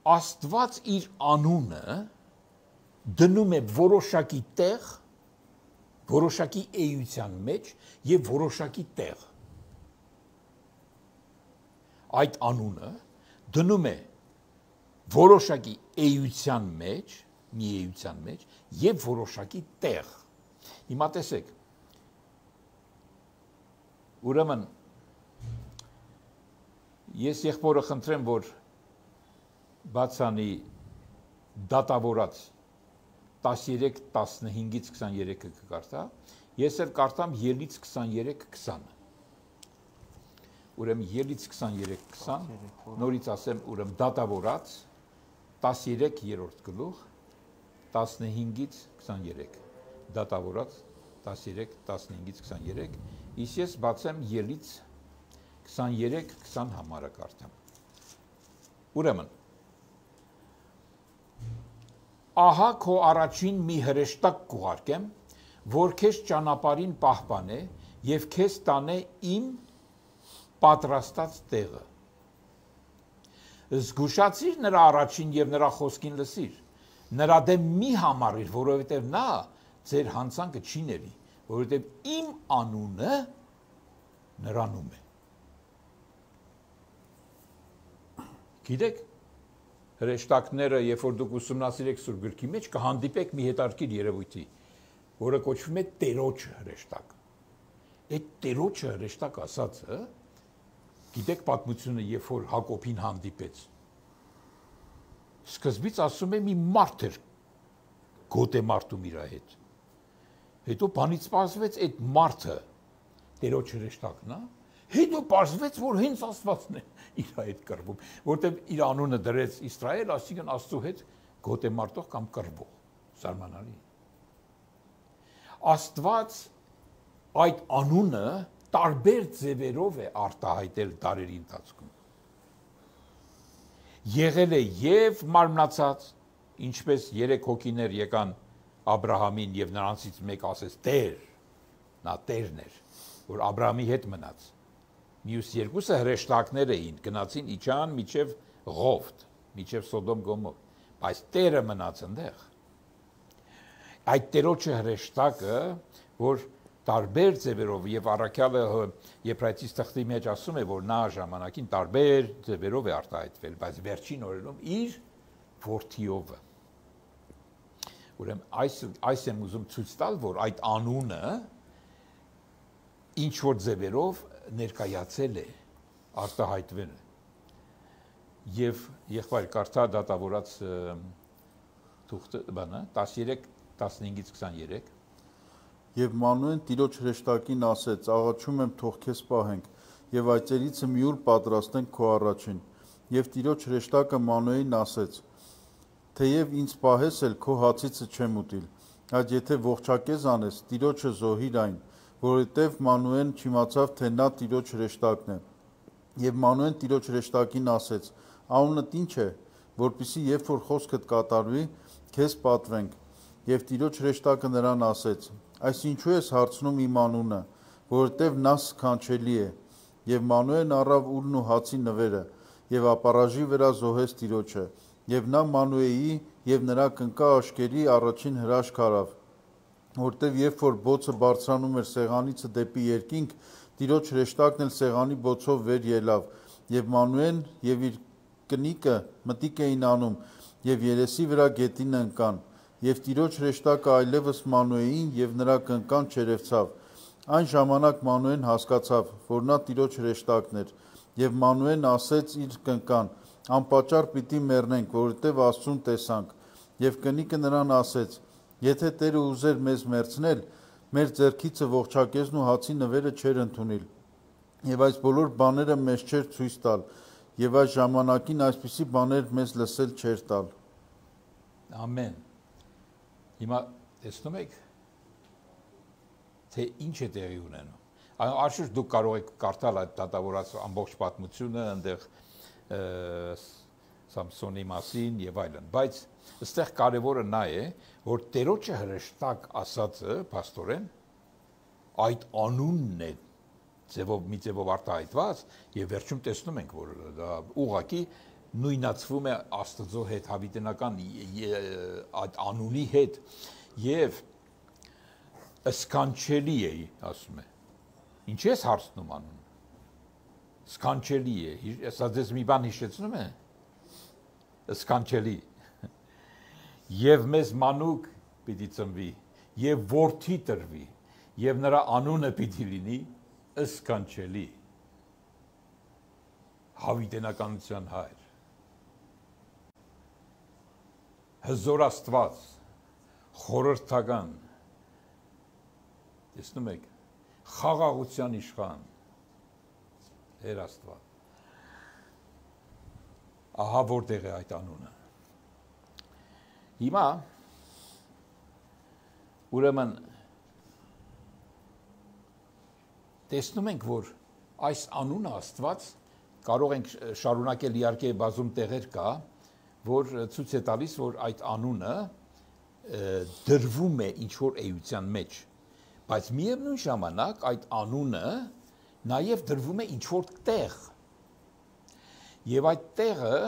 Աստված իր անունը դնում է որոշակի տեղ, որոշակի էության մեջ եւ որոշակի տեղ։ Այդ անունը դնում է որոշակի էության մեջ, մի էության մեջ եւ որոշակի տեղ։ Հիմա տեսեք, ուրեմն ես եղբորը խնդրեմ, որ բացանի դատավորած տասներեք տասնհինգից քսաներեքը կկարդա, ես էլ կարդամ ելից քսաներեք քսանը։ Ուրեմն ելից քսաներեք քսան, նորից ասեմ, ուրեմն դատավորած տասներեք գլուխ, տասնհինգից քսաներեք, դատավորած տասներեք տասնհինգից քսաներեք, իսկ ես բացեմ ելից քսաներեք քսան համարը կարդամ։ Ուրեմն ահա քո առաջին մի հրեշտակ կուղարկեմ, որ քեզ ճանապարհին պահպանե եւ քեզ տանե իմ պատրաստած տեղը։ Զգուշացիր նրա առաջին եւ նրա խոսքին լսիր։ Նրա դեմ մի համարիր, որովհետեւ նա ձեր հանցանքը չի ների, որովհետեւ իմ անունը նրանում է։ Գիտեք, հրեշտակները, երբ որ դուք ուսումնասիրեք Սուրբ գրքի մեջ, կհանդիպեք մի հետարքիր երևույթի, որը կոչվում է Տերոջ հրեշտակ։ Այդ Տերոջը հրեշտակ ասածը, գիտեք պատմությունը, երբ որ Հակոբին հանդիպեց, սկզբից ասում է մի մարդ էր գոտ է մարդում իր հետ։ Հետո բանից պարզվեց այդ մարդը Տերոջ հրեշտակն է, հետո պարզվեց, որ հենց Աստվածն է իր հետ կռվում, որտեղ իր անունը դրեց Իսրայել, այսինքն Աստծո հետ գոտ է մարդող կամ կռվող, զարմանալի։ Աստված այդ անունը տարբեր ձևերով է արտահայտել դարերի ընթացքում։ Եղել է եւ մարմնացած, ինչպես երեք հոգիներ եկան Աբրահամին եւ նրանցից մեկ ասեց Տեր, նա Տերն էր, որ Աբրահամի հետ մնաց։ Մյուս երկուսը հրեշտակներ էին, գնացին իջան միջև Ղովտ, միջև Սոդոմ Գոմոր, բայց Տերը մնաց այնտեղ։ Այդ Տերոջը հրեշտակը, որ տարբեր ձևերով եւ առաքյալը Եփրայեցիս թղթի մեջ ասում է, որ նա ժամանակին տարբեր ձևերով է արտահայտվել, բայց վերջին օրերում իր որդիով։ Ուրեմն այս այս եմ ուզում ցույց տալ, որ այդ անունը ինչ որ ձևերով ներկայացել է, արտահայտվել է։ Եվ եղբայր կարդա դատավորած թուղթը բանը տասներեք տասնհինգից քսաներեք Եվ Մանուեն Տիրոջ հրեշտակին ասեց. աղաչում եմ թող քեզ պահենք, եւ այծերիցը մի ուր պատրաստենք քո առաջին։ Եվ Տիրոջ հրեշտակը Մանուեին ասեց. թեև ինձ պահես էլ քո հացիցը չեմ ուտիլ, այդ եթե ողջակեզ անես, Տիրոջը զոհիր այն, որովհետև Մանուեն չիմացավ, թե նա Տիրոջ հրեշտակն է։ Եվ Մանուեն Տիրոջ հրեշտակին ասեց. անունդ ինչ է, որպեսզի երբ որ խոսքդ կատարվի, քեզ պատվենք։ Եվ Տիրոջ հրեշտակը նրան ասեց. այս ինչու ես հարցնում իմ անունը, որովհետև նա սքանչելի է։ Եվ Մանուեն առավ ուլն ու հացի նվերը, եւ ապառաժի վրա զոհեց Տիրոջը, եւ նա Մանուեի եւ նրա կնկա աշկերի առաջին հրաշք արավ, որտեւ երբ որ բոցը բարձրանում էր սեղանիցը դեպի երկինք, Տիրոջ հրեշտակն էլ սեղանի բոցով վեր ելավ, եւ Մանուեն եւ իր կնիկը մտիկ էին անում, եւ երեսի վրա գետինը ընկան, եւ Տիրոջ հրեշտակը այլևս Մանուեին եւ նրա կնկան չերևցավ։ Այն ժամանակ Մանուեն հասկացավ, որ նա Տիրոջ հրեշտակն էր, եւ Մանուեն ասեց իր կնկան. անպատճառ պիտի մեռնենք, որովհետև Աստծուն տեսանք։ Եվ կնիկը նրան ասեց. եթե Տերը ուզեր մեզ մեռցնել, մեր ձեռքիցը ողջակեզն ու հացի նվերը չէր ընդունիլ, եւ այս բոլոր բաները մեզ չէր ցույց տալ, եւ այս ժամանակին այսպիսի բաներ մեզ լսել չէր տալ։ Ամեն։ Հիմա տեսնում եք, թե ինչ է տեղի ունենում։ Անշուշտ դուք կարող եք կարդալ այդ դատավորած ամբողջ պատմությունը, այնտեղ Սամսոնի մասին եւ այլն, բայց այստեղ կարևորը նա է, որ Տերոջը հրեշտակ ասածը, փաստորեն, այդ անունն է ձևով մի ձևով արտահայտված եւ վերջում տեսնում ենք, որ դա ուղղակի նույնացվում է Աստծո հետ հավիտենական այդ անունի հետ եւ սքանչելի է, ասում է։ Ինչ ես հարցնում անուն։ Սքանչելի է, սա ձեզ մի բան հիշեցնում է։ Սքանչելի։ Եվ մեզ մանուկ պիտի ծնվի, եւ որդի տրվի, եւ նրա անունը պիտի լինի սքանչելի։ Հավիտենականության հայր։ Հզոր Աստված, խորհրդական, տեսնում եք, խաղաղության իշխան, Տեր Աստված։ Ահա որտեղ է այդ անունը։ Հիմա ուրեմն տեսնում ենք, որ այս անունը Աստված կարող ենք շարունակել իհարկե բազում տեղեր կա, որ ցույց է տալիս, որ այդ անունը դրվում է ինչ-որ էության մեջ, բայց միևնույն ժամանակ այդ անունը նաև դրվում է ինչ-որ տեղ, եւ այդ տեղը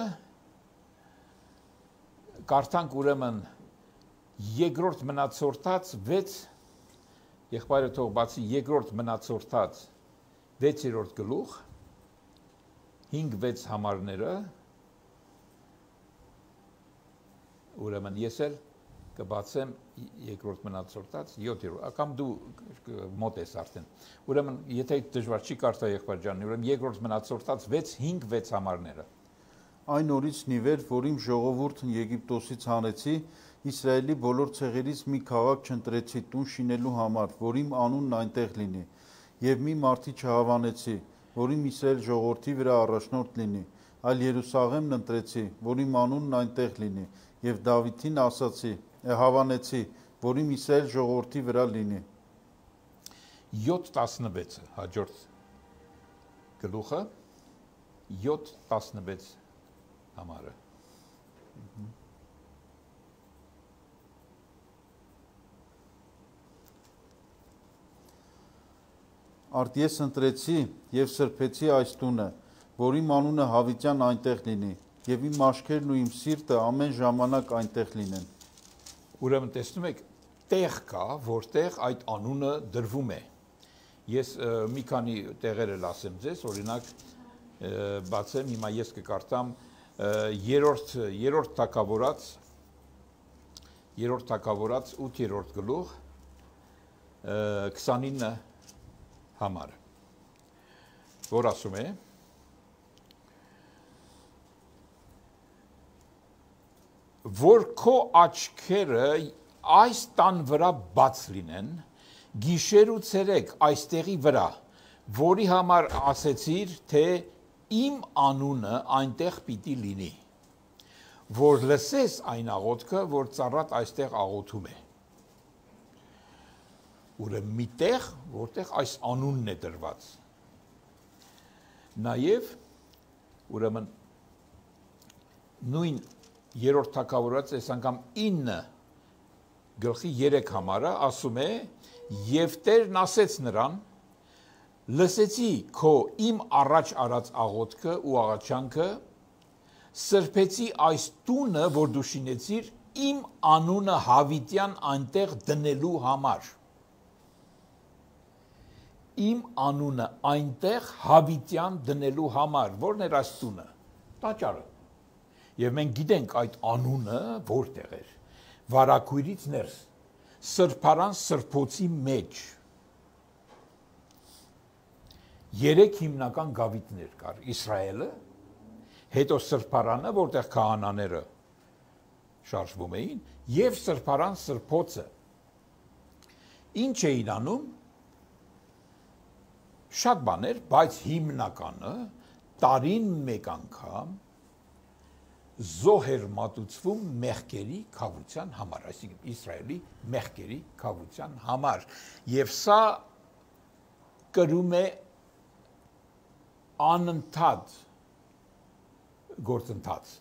կարդանք ուրեմն երկրորդ մնացորդած վեց եղբայրը թող բացի երկրորդ մնացորդած վեցերորդ գլուխ հինգ վեց համարները ուրեմն ես էլ կբացեմ երկրորդ մնացորդած յոթերորդ կամ դու մոտ ես արդեն ուրեմն եթե դժվար չի կարդա եղբայր ջան ուրեմն երկրորդ մնացորդած վեց հինգ վեց համարները Այն օրից ի վեր, որ իմ ժողովուրդն Եգիպտոսից հանեցի, Իսրայելի բոլոր ցեղերից մի քաղաք չընտրեցի տուն շինելու համար, որ իմ անունն այնտեղ լինի, եւ մի մարդի չհավանեցի, որ իմ Իսրայել ժողովրդի վրա առաջնորդ լինի, այլ Երուսաղեմն ընտրեցի, որ իմ անունն այնտեղ լինի, եւ Դավիթին ասացի, հավանեցի, որ իմ Իսրայել ժողովրդի վրա լինի։ յոթ տասնվեցը հաջորդ գլուխը յոթ տասնվեց համարը Արդ ես ընտրեցի եւ սրբեցի այս տունը, որ իմ անունը հավիտյան այնտեղ լինի, եւ իմ աչքերն ու իմ սիրտը ամեն ժամանակ այնտեղ լինեն։ Ուրեմն տեսնում եք, տեղ կա, որտեղ այդ անունը դրվում է։ Ես մի քանի տեղեր էլ ասեմ ձեզ, օրինակ բացեմ, հիմա ես կկարդամ երրորդ երրորդ թագավորած երրորդ թագավորած ութերորդ գլուխ քսանինը համար, որ ասում է. որ քո աչքերը այս տան վրա բաց լինեն, գիշեր ու ցերեկ այստեղի վրա, որի համար ասեցիր, թե իմ անունը այնտեղ պիտի լինի, որ լսես այն աղոթքը, որ ծառատ այստեղ աղոթում է։ Ուրեմն մի տեղ, որտեղ այս անունն է դրված։ Նաև ուրեմն նույն երրորդ թագավորած այս անգամ ինը գլխի երեք համարը ասում է. եւ Տերն ասեց նրան. լսեցի քո իմ առաջ արած աղոթքը ու աղաչանքը, սրբեցի այս տունը, որ դու շինեցիր, իմ անունը հավիտյան այնտեղ դնելու համար։ Իմ անունը այնտեղ հավիտյան դնելու համար, որն էր այս տունը, տաճարը։ Եվ մենք գիտենք այդ անունը որտեղ էր, վարակույրից ներս, սրբարան սրբոցի մեջ։ Երեք հիմնական գավիթներ կար, Իսրայելը, հետո սրբարանը, որտեղ քահանաները շարժվում էին, եւ սրբարան սրբոցը։ Ինչ էին անում, շատ բաներ, բայց հիմնականը տարին մեկ անգամ զոհ էր մատուցվում մեղքերի քավության համար, այսինքն Իսրայելի մեղքերի քավության համար, եւ սա կրում է անընդհատ գործընթաց,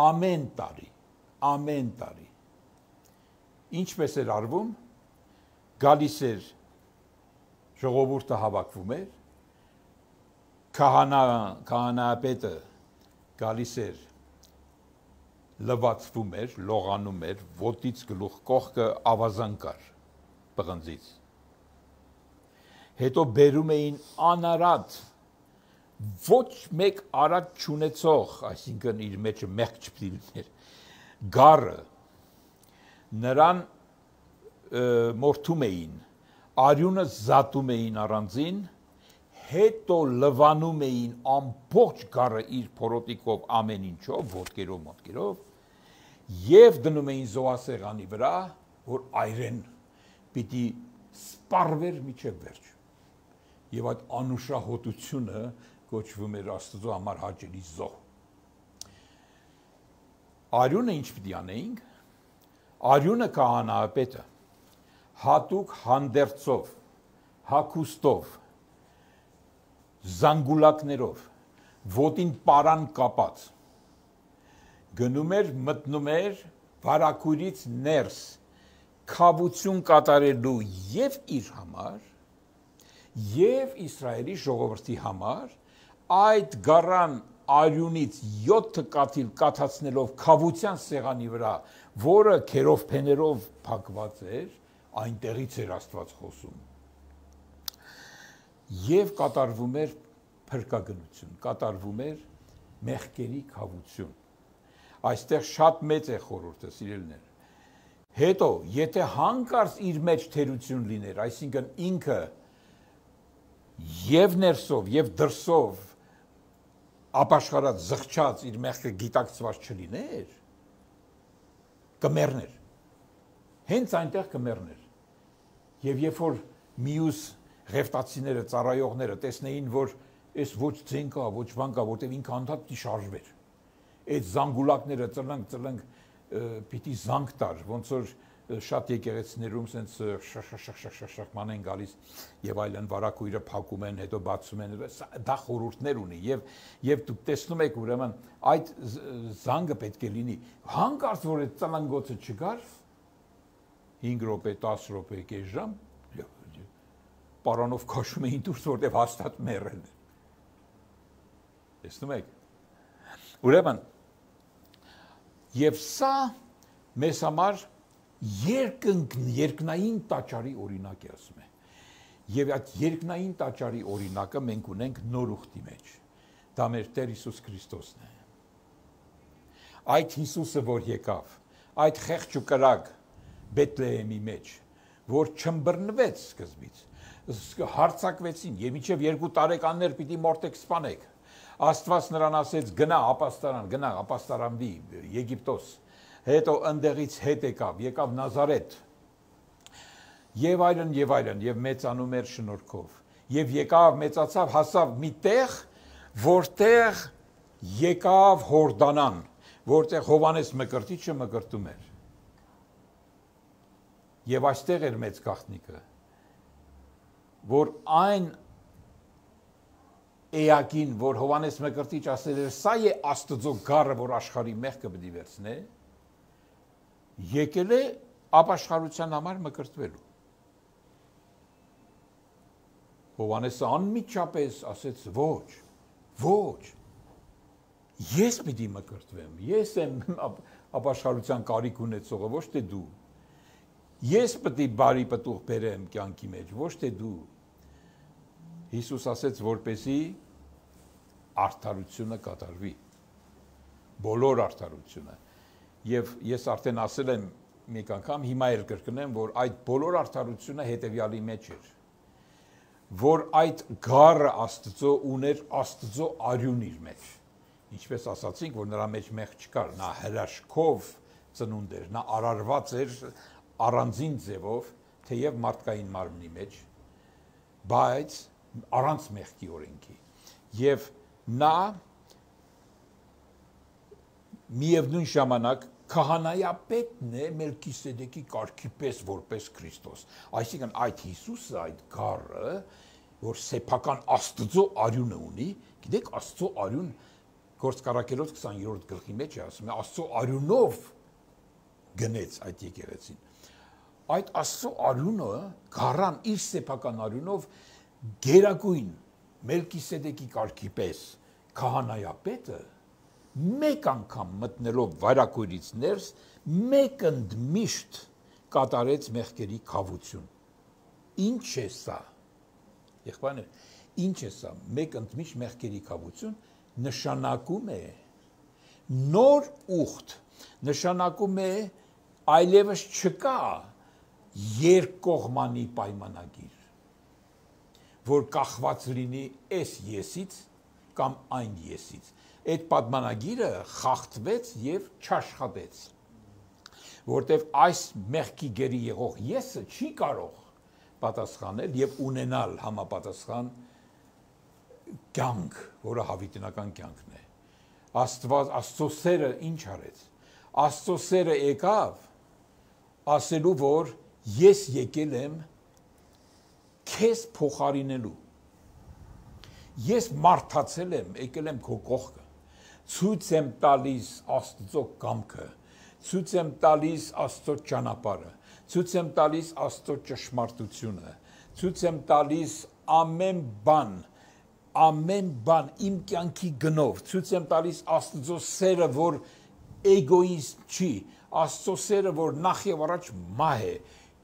ամեն տարի, ամեն տարի։ Ինչպես էր արվում, գալիս էր ժողովուրդը հավաքվում էր, քահանա, քահանայապետը գալիս էր, լվացվում էր, լողանում էր, ոտից գլուխ կողքը ավազան կար պղնձից։ Հետո բերում էին անարատ, ոչ մեկ արատ չունեցող, այսինքն իր մեջը մեղք չպետք լիներ, գառը, նրան մորթում էին, արյունը զատում էին առանձին, հետո լվանում էին ամբողջ գառը իր փորոտիկով ամեն ինչով, ոտքերով, մոտքերով, եւ դնում էին զոհասեղանի վրա, որ այրեն պիտի սպառվեր միջև վերջ։ Եվ այդ անուշահոտությունը կոչվում էր Աստծո համար հաճելի զոհ։ Արյունը ինչ պիտի անեինք, արյունը քահանայապետը հատուկ հանդերձով, հագուստով, զանգուլակներով, ոտին պարան կապած, գնում էր, մտնում էր վարակույրից ներս, քավություն կատարելու եւ իր համար, եւ Իսրայելի ժողովրդի համար, այդ գառան արյունից յոթ կաթիլ կաթացնելով քավության սեղանի վրա, որը քերով փեներով փակված էր, այնտեղից էր Աստված խոսում։ Եվ կատարվում էր փրկագնություն, կատարվում էր մեղքերի քավություն։ Այստեղ շատ մեծ է խորհուրդը, սիրելիներ։ Հետո, եթե հանկարծ իր մեջ թերություն լիներ, այսինքն ինքը եւ ներսով եւ դրսով ապաշխարած, զղջած իր մեղքը գիտակցված չլիներ, կմեռներ։ Հենց այնտեղ կմեռներ։ Եվ երբ որ մյուս ղևտացիները, ծառայողները տեսնեին, որ այս ոչ ձեն կա, ոչ բան կա, որտեղ ինքը անդադ պիտի շարժվեր։ Այդ զանգուլակները ծլնք, ծլնք պիտի զանգ տար, ոնց որ շատ եկեղեցիներում սենց շախ-շախ-շախ-շախ-շախ-ման են գալիս եւ այլն վարակույրը փակում են, հետո բացում են, դա խորհուրդներ ունի եւ եւ դուք տեսնում եք ուրեմն այդ զանգը պետք է լինի։ Հանկարծ որ այդ ծլնգոցը չգար, հինգ րոպե, տասը րոպե, կես ժամ, պարանով քաշում էին դուրս, որտեղ հաստատ մեռել են։ Տեսնում եք։ Ուրեմն եւ սա մեզ համար երկնք երկնային տաճարի օրինակ է ասում է։ Եվ այդ երկնային տաճարի օրինակը մենք ունենք նոր ուխտի մեջ։ Դա մեր Տեր Հիսուս Քրիստոսն է։ Այդ Հիսուսը, որ եկավ, այդ խեղճ ու կրակ Բեթլեհեմի մեջ, որ չմբռնվեց սկզբից, հարցակվեցին, եւ մինչեւ երկու տարեկաններ պիտի մորտեք սպանեք։ Աստված նրան ասեց՝ գնա ապաստարան, գնա ապաստարանվի Եգիպտոս։ Հետո ընդեղից հետ եկավ, եկավ Նազարեթ։ Եվ այլն, եւ այլն, եւ մեծանում էր շնորհքով։ Եվ եկավ, մեծացավ, հասավ մի տեղ, որտեղ եկավ Հորդանան, որտեղ Հովանես Մկրտիչը մկրտում էր։ Եվ այստեղ էր մեծ գաղտնիքը, որ այն էակին, որ Հովանես Մկրտիչ ասել էր, սա է Աստծո գառը, որ աշխարհի մեղքը պիտի վերցնե, եկել է ապաշխարության համար մկրտվելու։ Հովանեսը անմիջապես ասեց ոչ, ոչ, ես պիտի մկրտվեմ, ես եմ ապաշխարության կարիք ունեցողը, ոչ թե դու, ես պիտի բարի պտուղ բերեմ կյանքի մեջ, ոչ թե դու։ Հիսուս ասեց, որպեսզի արդարությունը կատարվի, բոլոր արդարությունը։ Եվ ես արդեն ասել եմ մի անգամ, հիմա էլ կրկնեմ, որ այդ բոլոր արդարությունը հետևյալի մեջ էր, որ այդ գառը Աստծո ուներ Աստծո արյուն իր մեջ։ Ինչպես ասացինք, որ նրա մեջ մեղք չկար, նա հրաշքով ծնունդ էր, նա արարված էր առանձին ձևով, թեև մարդկային մարմնի մեջ, բայց առանց մեղքի օրենքի։ Եվ նա միևնույն ժամանակ քահանայապետն է Մելքիսեդեկի կարգի պես որպես Քրիստոս։ Այսինքն այդ Հիսուսը, այդ գառը, որ սեփական Աստծո արյունը ունի, գիտեք, Աստծո արյուն Գործկարակելոց քսաներորդ գլխի մեջ է ասում է, Աստծո արյունով գնեց այդ եկեղեցին։ Այդ Աստծո արյունը, գառան իր սեփական արյունով գերագույն Մելքիսեդեկի կարգի պես քահանայապետը մեկ անգամ մտնելով վայրակույրից ներս, մեկ ընդմիշտ կատարեց մեղքերի քավություն։ Ինչ է սա։ Եղբայրներ, ինչ է սա։ Մեկ ընդմիշտ մեղքերի քավություն նշանակում է նոր ուխտ, նշանակում է այլևս չկա երկկողմանի պայմանագիր, որ կախված լինի այս եսից կամ այն եսից։ Այդ պատմանագիրը խախտվեց եւ չաշխատեց, որտեւ այս մեղքի գերի եղող եսը չի կարող պատասխանել եւ ունենալ համապատասխան կյանք, որը հավիտենական կյանքն է։ Աստված, Աստծո սերը ինչ արեց։ Աստծո սերը եկավ ասելու, որ ես եկել եմ քեզ փոխարինելու։ Ես մարդացել եմ, եկել եմ քո կողքը, ցույց եմ տալիս Աստծո կամքը, ցույց եմ տալիս Աստծո ճանապարհը, ցույց եմ տալիս Աստծո ճշմարտությունը, ցույց եմ տալիս ամեն բան, ամեն բան իմ կյանքի գնով, ցույց եմ տալիս Աստծո սերը, որ էգոիստ չի, Աստծո սերը, որ նախ եւ առաջ մահ է,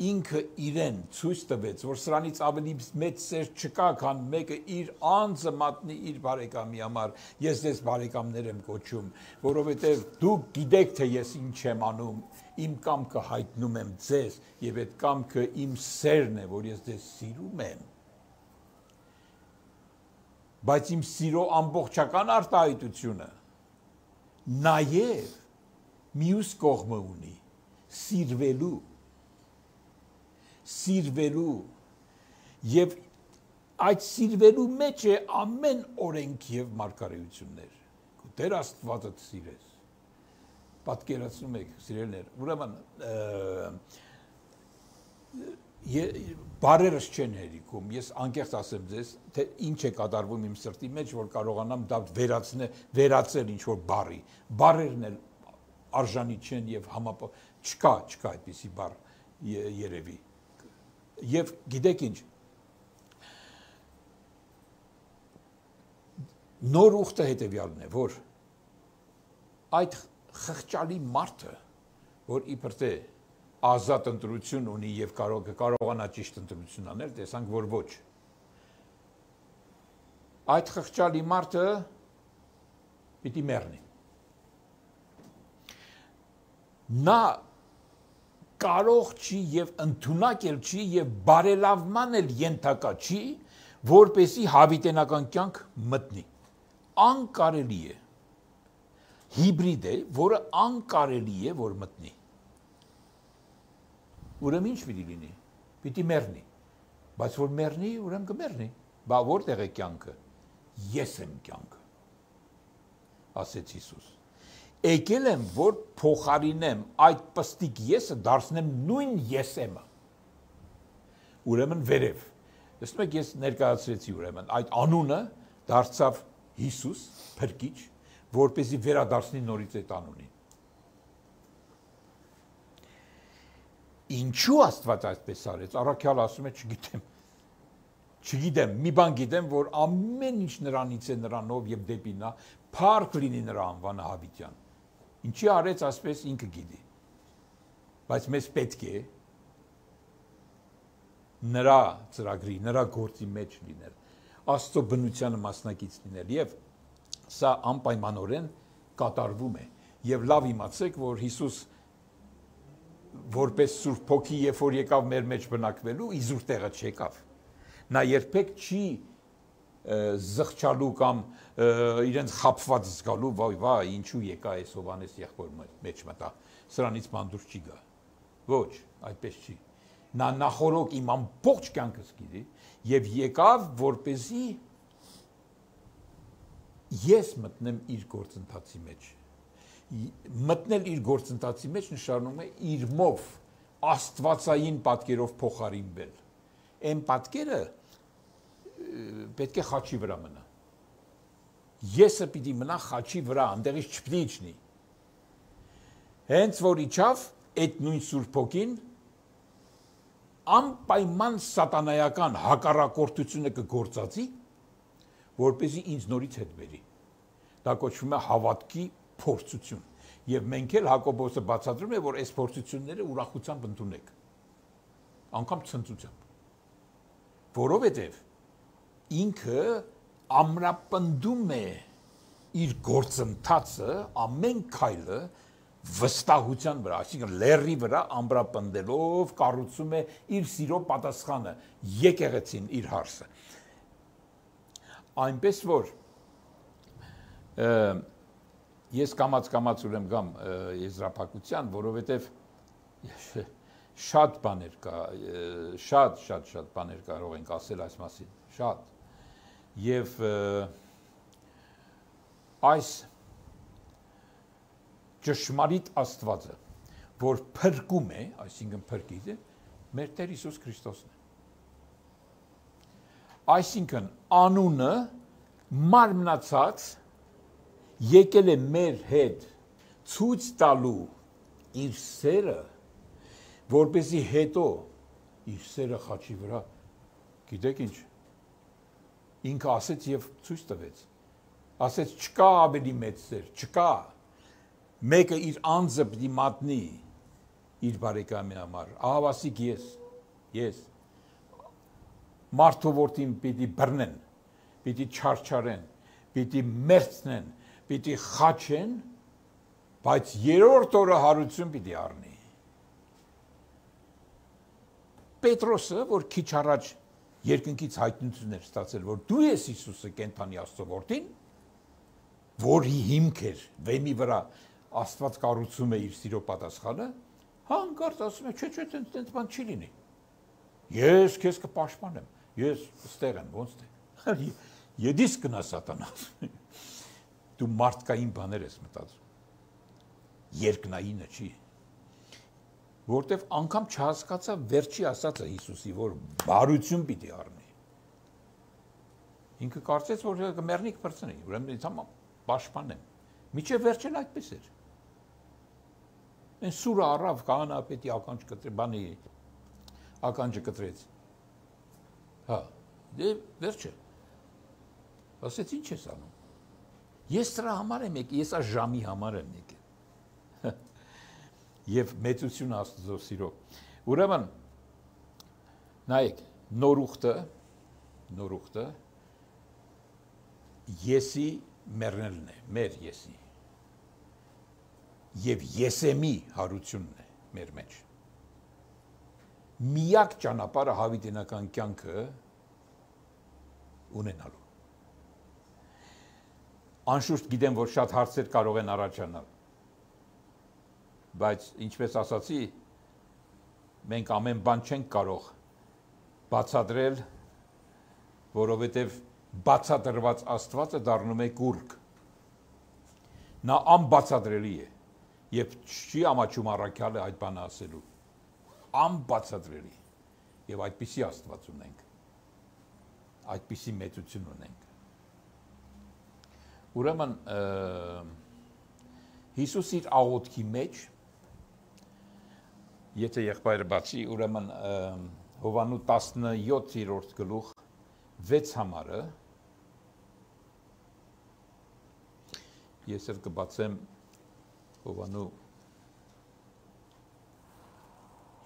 ինքը իրեն ցույց տվեց, որ սրանից ավելի մեծ սեր չկա, քան մեկը իր անձը մատնի իր բարեկամի համար։ Ես ձեզ բարեկամներ եմ կոչում, որովհետև դուք գիտեք, թե ես ինչ եմ անում, իմ կամքը հայտնում եմ ձեզ, եւ այդ կամքը իմ սերն է, որ ես ձեզ սիրում եմ։ Բայց իմ սիրո ամբողջական արտահայտությունը նաեւ մյուս կողմը ունի, սիրվելու սիրվելու եւ այդ սիրվելու մեջ է ամեն օրենք եւ մարգարեություններ։ Տեր Աստվածը սիրես։ Պատկերացնում եք, սիրելիներ, ուրեմն բարերս չեն հերիքում։ Ես անկեղծ ասեմ ձեզ, թե ինչ է կատարվում իմ սրտի մեջ, որ կարողանամ դա վերացնել, վերացել ինչ որ բառի։ Բառերն էլ արժանի չեն եւ համապ չկա, չկա այդպիսի բառ երևի։ Եվ գիտեք ինչ, նոր ուխտը հետևյալն է, որ այդ խղճալի մարդը, որ իբր թե ազատ ընտրություն ունի եւ կարող կարողանա ճիշտ ընտրություն անել, տեսանք, որ ոչ։ Այդ խղճալի մարդը պիտի մեռնի։ Նա կարող չի եւ ընդունակ էլ չի եւ բարելավման էլ ենթակա չի, որպեսի հավիտենական կյանք մտնի։ Անկարելի է։ Հիբրիդ է, որը անկարելի է, որ մտնի։ Ուրեմն ինչ պիտի լինի։ Պիտի մեռնի։ Բայց որ մեռնի, ուրեմն կմեռնի։ Բա որտեղ է կյանքը։ Ես եմ կյանքը։ Ասեց Հիսուս։ Եկել եմ, որ փոխարինեմ այդ պստիկ եսը, դարձնեմ նույն եսեմը։ Ուրեմն վերև։ Տեսնում եք, ես ներկայացրեցի ուրեմն այդ անունը դարձավ Հիսուս, փրկիչ, որպեսզի վերադարձնի նորից այդ անունին։ Ինչու Աստված այդպես արեց։ Առաքյալը ասում է, չգիտեմ։ Չգիտեմ, մի բան գիտեմ, որ ամեն ինչ նրանից է, նրանով եւ դեպի նա, փառք լինի նրա անվանը հավիտյան։ Ինչի արեց ասպես ինքը գիտի։ Բայց մեզ պետք է նրա ծրագրի, նրա գործի մեջ լինել, Աստծո բնությանը մասնակից լինել եւ սա անպայմանորեն կատարվում է։ Եվ լավ իմացեք, որ Հիսուս որպես Սուրբ Հոգի, երբ որ եկավ մեր մեջ բնակվելու, իզուր տեղը չեկավ։ Նա երբեք չի զղջալու կամ իրենց խապված զգալու, վայ, վայ, ինչու եկա այս Հովանես եղբոր մեջ մտա, սրանից ման դուրս չի գա։ Ոչ, այդպես չի։ Նա նախորոք իմ ամբողջ կյանքս գիտի եւ եկավ, որպեսզի ես մտնեմ իր գործընթացի մեջ։ Մտնել իր գործընթացի մեջ նշանակում է իր մով աստվածային պատկերով փոխարինվել։ Այն պատկերը պետք է խաչի վրա մնա։ Եսը պիտի մնա խաչի վրա, այնտեղից չպիտի իջնի։ Հենց որ իջավ, այդ նույն Սուրբ Հոգին անպայման սատանայական հակառակորդությունը կգործածի, որպեսզի ինձ նորից հետ բերի։ Դա կոչվում է հավատքի փորձություն։ Եվ մենք էլ Հակոբոսը բացատրում է, որ այս փորձությունները ուրախությամբ ընդունեք։ Անկամ ցնծությամբ։ Որովհետև ինքը ամրապնդում է իր գործընթացը, ամեն քայլը վստահության վրա, այսինքն լեռի վրա ամրապնդելով կառուցում է իր սիրո պատասխանը, եկեղեցին իր հարսը։ Այնպես որ ես կամաց-կամաց ուրեմ գամ եզրափակության, որովհետև շատ բաներ կա, շատ, շատ, շատ բաներ կարող ենք ասել այս մասին, շատ։ Եվ այս ճշմարիտ Աստվածը, որ փրկում է, այսինքն փրկիչ է, մեր Տեր Հիսուս Քրիստոսն է։ Այսինքն անունը մարմնացած եկել է մեր հետ ցույց տալու իր սերը, որպեսզի հետո իր սերը խաչի վրա, գիտեք ինչ, ինքը ասեց եւ ցույց տվեց, ասեց չկա ավելի մեծ սեր, չկա, մեկը իր անձը պիտի մատնի իր բարեկամի համար, ահավասիկ ես, ես, մարդու որդին պիտի բռնեն, պիտի չարչարեն, պիտի մերցնեն, պիտի խաչեն, բայց երրորդ օրը հարություն պիտի առնի։ Պետրոսը, որ քիչ առաջ երկնքից հայտնություն էր ստացել, որ դու ես Հիսուսը կենթանի Աստծո որդին, որի հիմք էր վեմի վրա Աստված կառուցում է իր սիրո պատասխանը, հանկարծ ասում է, չէ, չէ, տենց բան չի լինի։ Ես քեզ կպաշտպանեմ, ես ստեղ եմ, ոնց թե։ Եդիս կնա սատանա։ Դու մարդկային բաներ ես մտածում։ Երկնայինը չի։ Որտեվ անգամ չհասկացա վերջի ասածը Հիսուսի, որ բարություն պիտի առնի։ Ինքը կարծեց, որ կմեռնի կպրծնի, ուրեմն ինձ համար պաշտպանեմ։ Միջև վերջն այդպես էր։ Այն սուրը առավ քահանայապետի ականջ կտրեց, բանի ականջը կտրեց։ Հա, դե վերջը։ Ասեց ինչ ես անում։ Ես դրա համար եմ եկել, ես այս ժամի համար եմ եկել։ եւ մեծություն Աստծո սիրո։ Ուրեմն նայեք, նոր ուխտը, նոր ուխտը եսի մեռնելն է, մեր եսի։ Եվ եսեմի հարությունն է մեր մեջ։ Միակ ճանապարհը հավիտենական կյանքը ունենալու։ Անշուշտ գիտեմ, որ շատ հարցեր կարող են առաջանալ, բայց ինչպես ասացի, մենք ամեն բան չենք կարող բացատրել, որովհետև բացատրված Աստվածը դառնում է կուրկ։ Նա անբացատրելի է, եւ չի ամաչում առաքյալը այդ բանը ասելու։ Անբացատրելի։ Եվ այդպիսի Աստված ունենք։ Այդպիսի մեծություն ունենք։ Ուրեմն Հիսուս իր աղոթքի մեջ, եթե եղբայրը բացի, ուրեմն Հովանու տասնյոթերորդ գլուխ վեց համարը, ես էլ կբացեմ Հովանու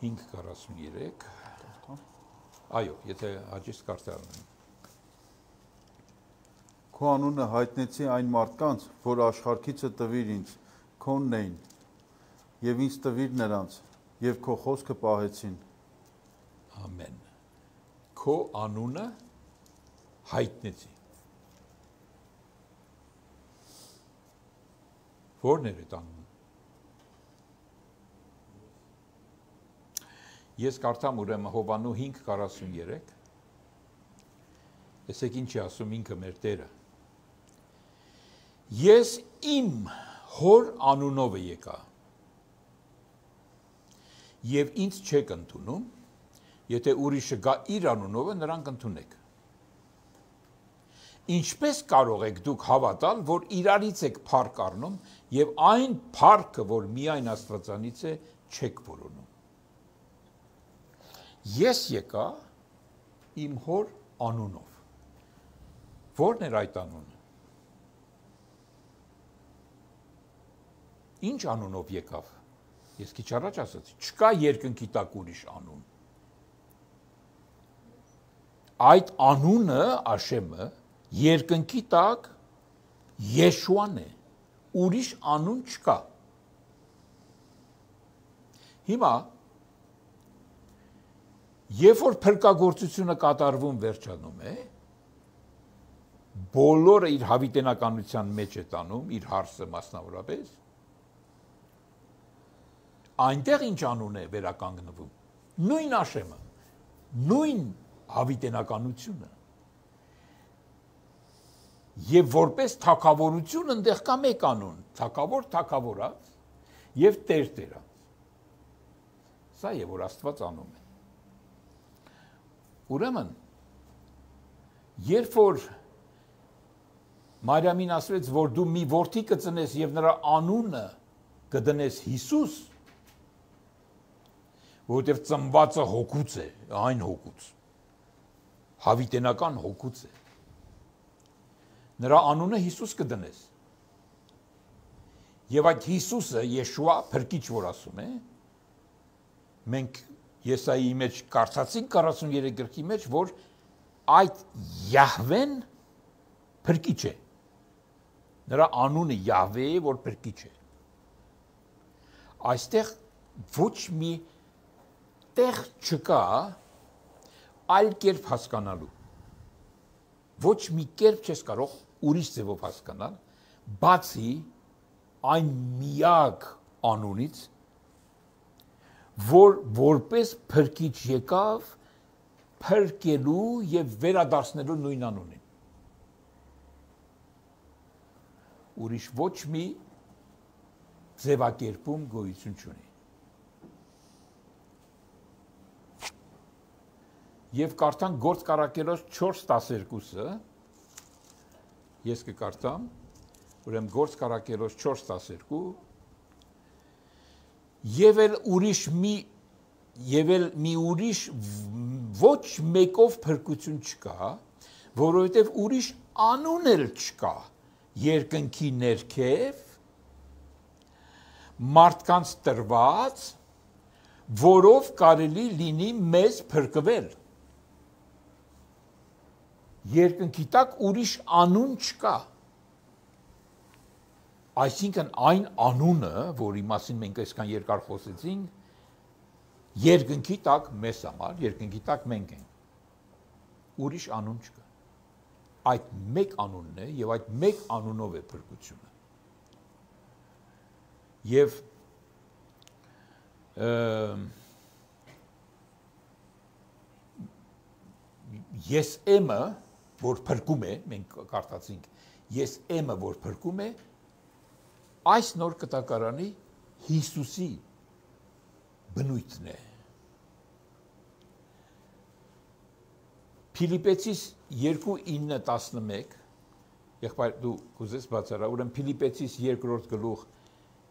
հինգ քառասուններեք, այո, եթե հաջիստ կարդալն եմ։ Քո անունը հայտնեցի այն մարդկանց, որ աշխարհքիցը տվիր ինձ, քոնն էին, եւ ինձ տվիր նրանց, եւ քո խոսքը պահեցին։ Ամեն։ Քո անունը հայտնեցի։ Որն էր այդ անունը։ Ես կարդամ ուրեմն Հովանու հինգ քառասուններեք, տեսեք ինչ է ասում ինքը մեր Տերը։ Ես իմ հոր անունով եկա եւ ինձ չեք ընդունում, եթե ուրիշը գա իր անունով, նրան կընդունեք։ Ինչպես կարող եք դուք հավատալ, որ իրարից եք փառք առնում եւ այն փառքը, որ միայն Աստվածանից է, չեք որոնում։ Ես եկա իմ հոր անունով։ Որն էր այդ անունը։ Ինչ անունով եկավ։ Ես քիչ առաջ ասացի, չկա երկնքի տակ ուրիշ անուն։ Այդ անունը, Աշեմը, երկնքի տակ Եշուան է։ Ուրիշ անուն չկա։ Հիմա երբ որ փրկagorցությունը կատարվում վերջանում է, բոլորը իր հավիտենականության մեջ է տանում, իր հարսը մասնավորապես, այնտեղ ինչ անուն է վերականգնվում, նույն Աշեմը, նույն հավիտենականությունը, եւ որպես թագավորություն ընդեղ կա մեկ անուն, թագավոր թագավորած եւ Տեր Տերած։ Սա է, որ Աստված անում է։ Ուրեմն, երբ որ Մարիամին ասվեց, որ դու մի որդի կծնես եւ նրա անունը կդնես Հիսուս, որովհետև ծնվածը հոգուց է, այն հոգուց, հավիտենական հոգուց է, նրա անունը Հիսուս կդնես, եւ այդ Հիսուսը, Եշուա, փրկիչ որ ասում է, մենք Եսայի մեջ կարդացինք քառասուներեք գրքի մեջ, որ այդ Յահվեն փրկիչ է, նրա անունը Յահվե է, որ փրկիչ է, այստեղ ոչ մի տեղ չկա այլ կերպ հասկանալու, ոչ մի կերպ չես կարող ուրիշ ձևով հասկանալ, բացի այն միակ անունից, որ որպես փրկիչ եկավ փրկելու եւ վերադարձնելու նույն անունին։ Ուրիշ ոչ մի ձևակերպում գոյություն չունի։ Եվ կարդանք Գործ Կարակելոց չորս տասներկուսը, ես կկարդամ, ուրեմն Գործ Կարակելոց չորս տասներկու, Եվ էլ ուրիշ մի եւ էլ մի ուրիշ ոչ մեկով փրկություն չկա, որովհետեւ ուրիշ անուն էլ չկա երկնքի ներքև, մարդկանց տրված, որով կարելի լինի մեզ փրկվել։ Երկնքի տակ ուրիշ անուն չկա։ Այսինքն այն անունը, որի մասին մենք այսքան երկար խոսեցինք, երկնքի տակ մեզ համար, երկնքի տակ մենք ենք։ Ուրիշ անուն չկա։ Այդ մեկ անունն է եւ այդ մեկ անունով է փրկությունը։ Եվ ես եմը, որ փրկում է, մենք կարդացինք, ես եմը, որ փրկում է, այս նոր կտակարանի Հիսուսի բնույթն է։ Փիլիպեցիս երկու ինը տասնմեկ, եղբայր դու կուզես բացարա, ուրեմն Փիլիպեցիս երկրորդ գլուխ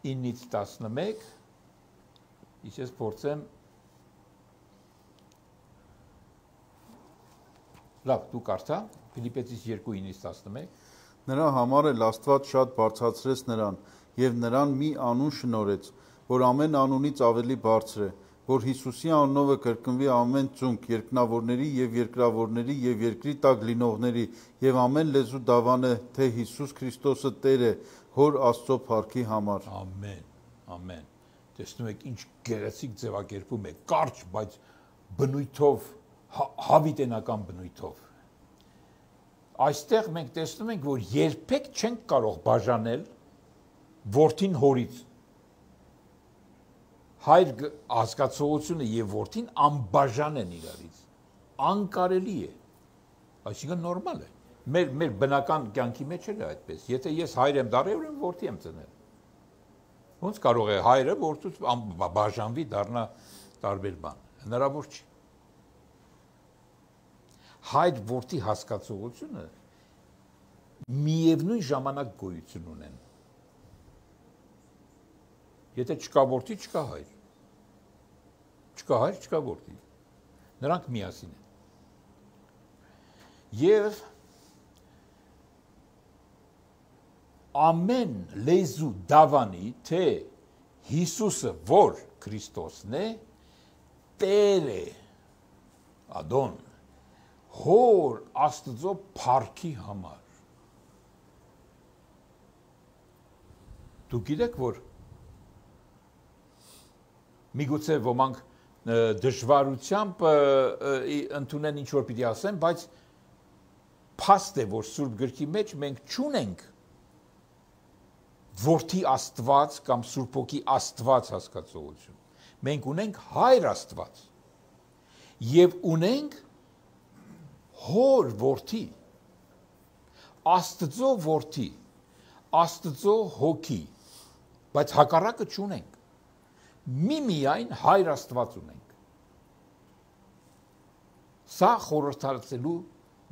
ինից տասնմեկ, իսկ ես փորձեմ լավ, դու կարդա, Փիլիպեցիս երկու ինից տասնմեկ, նրա համար էլ Աստված շատ բարձրացրեց նրան եւ նրան մի անուն շնորհեց, որ ամեն անունից ավելի բարձր է, որ Հիսուսի անունով կրկնվի ամեն ծունկ, երկնավորների եւ երկրավորների եւ երկրի տակ լինողների եւ ամեն լեզու դավանե, թե Հիսուս Քրիստոսը Տեր է, Հոր Աստծո փառքի համար։ Ամեն, ամեն։ Տեսնում եք ինչ գեղեցիկ ձևակերպում է, կարճ, բայց բնույթով, հավիտենական բնույթով։ Այստեղ մենք տեսնում ենք, որ երբեք չենք կարող բաժանել որդին հորից։ Հայր ազգացողությունը եւ որդին անբաժան են իրարից։ Անկարելի է։ Այսինքն նորմալ է։ Մեր մեր բնական կյանքի մեջ էլ է այդպես։ Եթե ես հայր եմ դառել, ուրեմն որդի եմ ծնել։ Ոնց կարող է հայրը որդուց բաժանվի դառնա տարբեր բան։ Հնարավոր չի։ Հայր որդի հասկացողությունը միևնույն ժամանակ գոյություն ունեն։ Եթե չկա որդի, չկա հայր։ Չկա հայր, չկա որդի։ Նրանք միասին են։ Եվ ամեն լեզու դավանի, թե Հիսուսը որ Քրիստոսն է, Տեր է, Ադոն, Հոր Աստծո փառքի համար։ Դուք գիտեք, որ միգուցե ոմանք դժվարությամբ ընդունեն ինչ որ պիտի ասեն, բայց փաստ է, որ Սուրբ գրքի մեջ մենք չունենք որդի Աստված կամ Սուրբ Հոգի Աստված հասկացողություն։ Մենք ունենք Հայր Աստված եւ ունենք Հոր որդի, Աստծո որդի, Աստծո Հոգի, բայց հակառակը չունենք։ Միմիայն Հայր Աստված ունենք։ Սա խորհրդածելու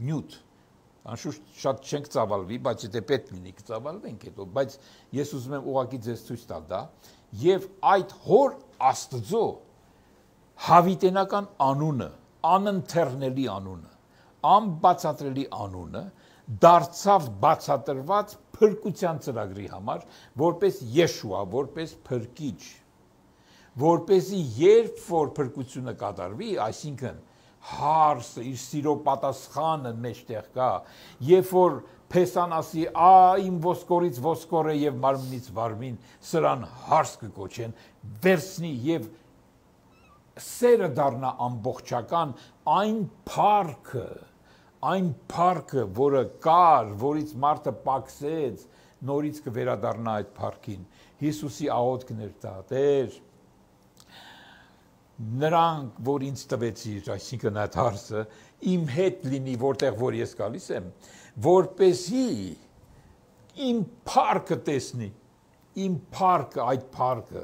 նյութ։ Անշուշտ շատ չենք ծավալվի, բայց եթե պետք լինի կծավալվենք հետո, բայց ես ուզում եմ ուղղակի ձեզ ցույց տալ դա, եւ այդ Հոր Աստծո հավիտենական անունը, անընթեռնելի անունը, անբացատրելի անունը դարձավ բացատրված փրկության ծրագրի համար, որպես Եշուա, որպես փրկիչ, որպեսզի երբ որ փրկությունը կատարվի, այսինքն հարսը, իր սիրո պատասխանը մեջտեղ կա, երբ որ Փեսան ասի, «Ա իմ ոսկորից ոսկոր է եւ մարմնից մարմին», սրան հարս կկոչեն, վերցնի եւ սերը դառնա ամբողջական, այն փառքը, այն փառքը, որը կար, որից մարդը պակսեց, նորից կվերադառնա այդ փառքին։ Հիսուսի աղոթքն էր դա, Տեր, նրանք, որ ինձ տվեցիր, այսինքն այդ հարսը, իմ հետ լինի, որտեղ որ ես գալիս եմ, որպեսզի իմ փառքը տեսնի, իմ փառքը, այդ փառքը,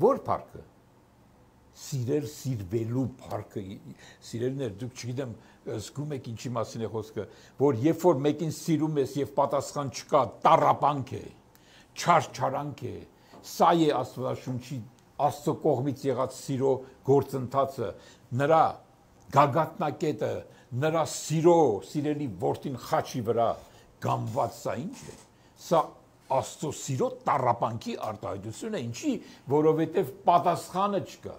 որ փառքը, սիրել սիրվելու փառքը, սիրելիներ, դուք չգիտեմ, զգում եք ինչի մասին է խոսքը, որ երբ որ մեկին սիրում ես եւ պատասխան չկա, տառապանք է, չարչարանք է, սա է Աստվածաշունչի Աստծո կողմից եղած սիրո գործընթացը, նրա գագաթնակետը, նրա սիրո, սիրելի որդին խաչի վրա գամված, սա ինչ է, սա Աստծո սիրո տառապանքի արտահայտություն է, ինչի, որովհետև պատասխանը չկա։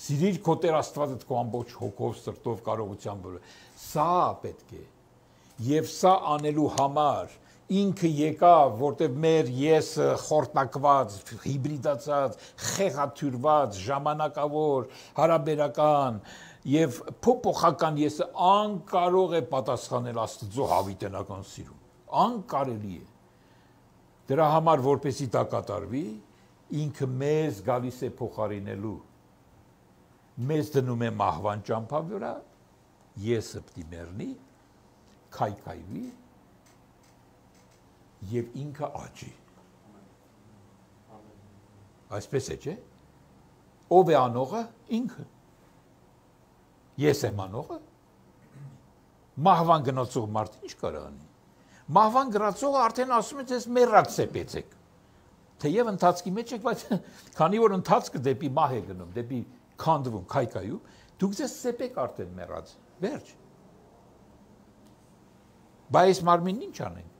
Սիրիր քո Տեր Աստվածդ քո ամբողջ հոգով, սրտով, կարողությամբ։ Սա պետք է։ Եվ սա անելու համար ինքը եկավ, որտեղ մեր եսը խորտակված, հիբրիդացած, խեղաթյուրված, ժամանակավոր, հարաբերական եւ փոփոխական եսը անկարող է պատասխանել Աստծո հավիտենական սիրուն։ Անկարելի է։ Դրա համար որպեսի դա կատարվի, ինքը մեզ գալիս է փոխարինելու։ Մեզ դնում է մահվան ճամփա վրա, եսը պիտի մեռնի, քայքայվի եւ ինքը աճի։ Այսպես է, չէ՞։ Ով է անողը? Ինքը։ Ես եմ անողը։ Մահվան գնացող մարդը ինչ կարող անի։ Մահվան գրածողը արդեն ասում է, ձեզ մեռած սեպեցեք։ Թեև ընթացքի մեջ եք, բայց քանի որ ընթացքը դեպի մահ է գնում, դեպի քանդվում, քայքայում, դուք ձեզ սեպեք արդեն մեռած։ Վերջ։ Բայց մարմինն ինչ անենք։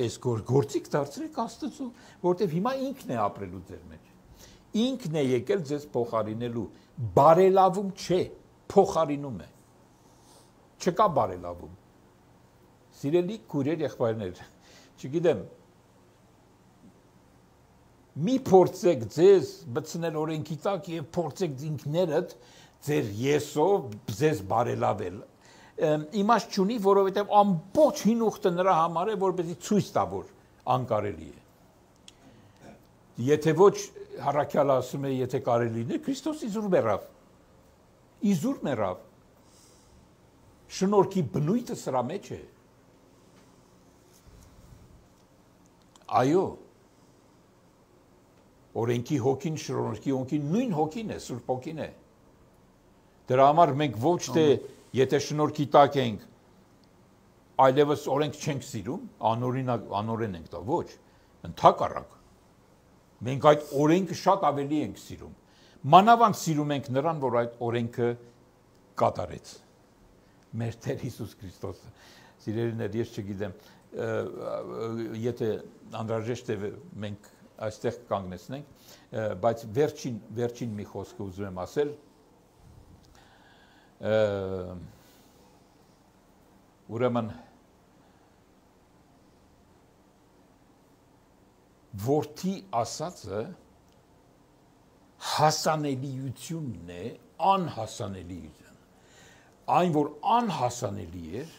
Այս գործիք դարձրեք Աստծո, որտեվ հիմա ինքն է ապրելու ձեր մեջ։ Ինքն է եկել ձեզ փոխարինելու։ Բարելավում չէ, փոխարինում է։ Չկա բարելավում։ Սիրելի քույրեր, եղբայրներ, չգիտեմ, մի փորձեք ձեզ բցնել օրենքի տակ եւ փորձեք ինքներդ ձեր եսով ձեզ բարելավել։ Իմաստ չունի, որովհետեւ ամբողջ հին ուխտը նրա համար է, որպեսզի ցույց տա, որ անկարելի է։ Եթե ոչ հառաքյալը ասում է, եթե կարելի է, Քրիստոս իզուր մեռավ։ Իզուր մեռավ։ Շնորհքի բնույթը սրա մեջ է։ Այո։ Օրենքի հոգին, շնորհքի հոգին, նույն հոգին է, Սուրբ հոգին է։ Դրա համար մենք ոչ թե եթե շնորհքի տակ ենք, այլևս օրենք չենք սիրում, անօրինակ անօրեն ենք դա, ոչ, ընդհակառակ։ Մենք այդ օրենքը շատ ավելի ենք սիրում։ Մանավանդ սիրում ենք նրան, որ այդ օրենքը կատարեց։ Մեր Տեր Հիսուս Քրիստոսը։ Սիրելիներ, ես չգիտեմ, եթե անհրաժեշտ է մենք այստեղ կանգնեցնենք, բայց վերջին վերջին մի խոսքը ուզում եմ ասել, ուրեմն որդի ասածը հասանելիությունն է, անհասանելիություն։ Այն, որ անհասանելի էր,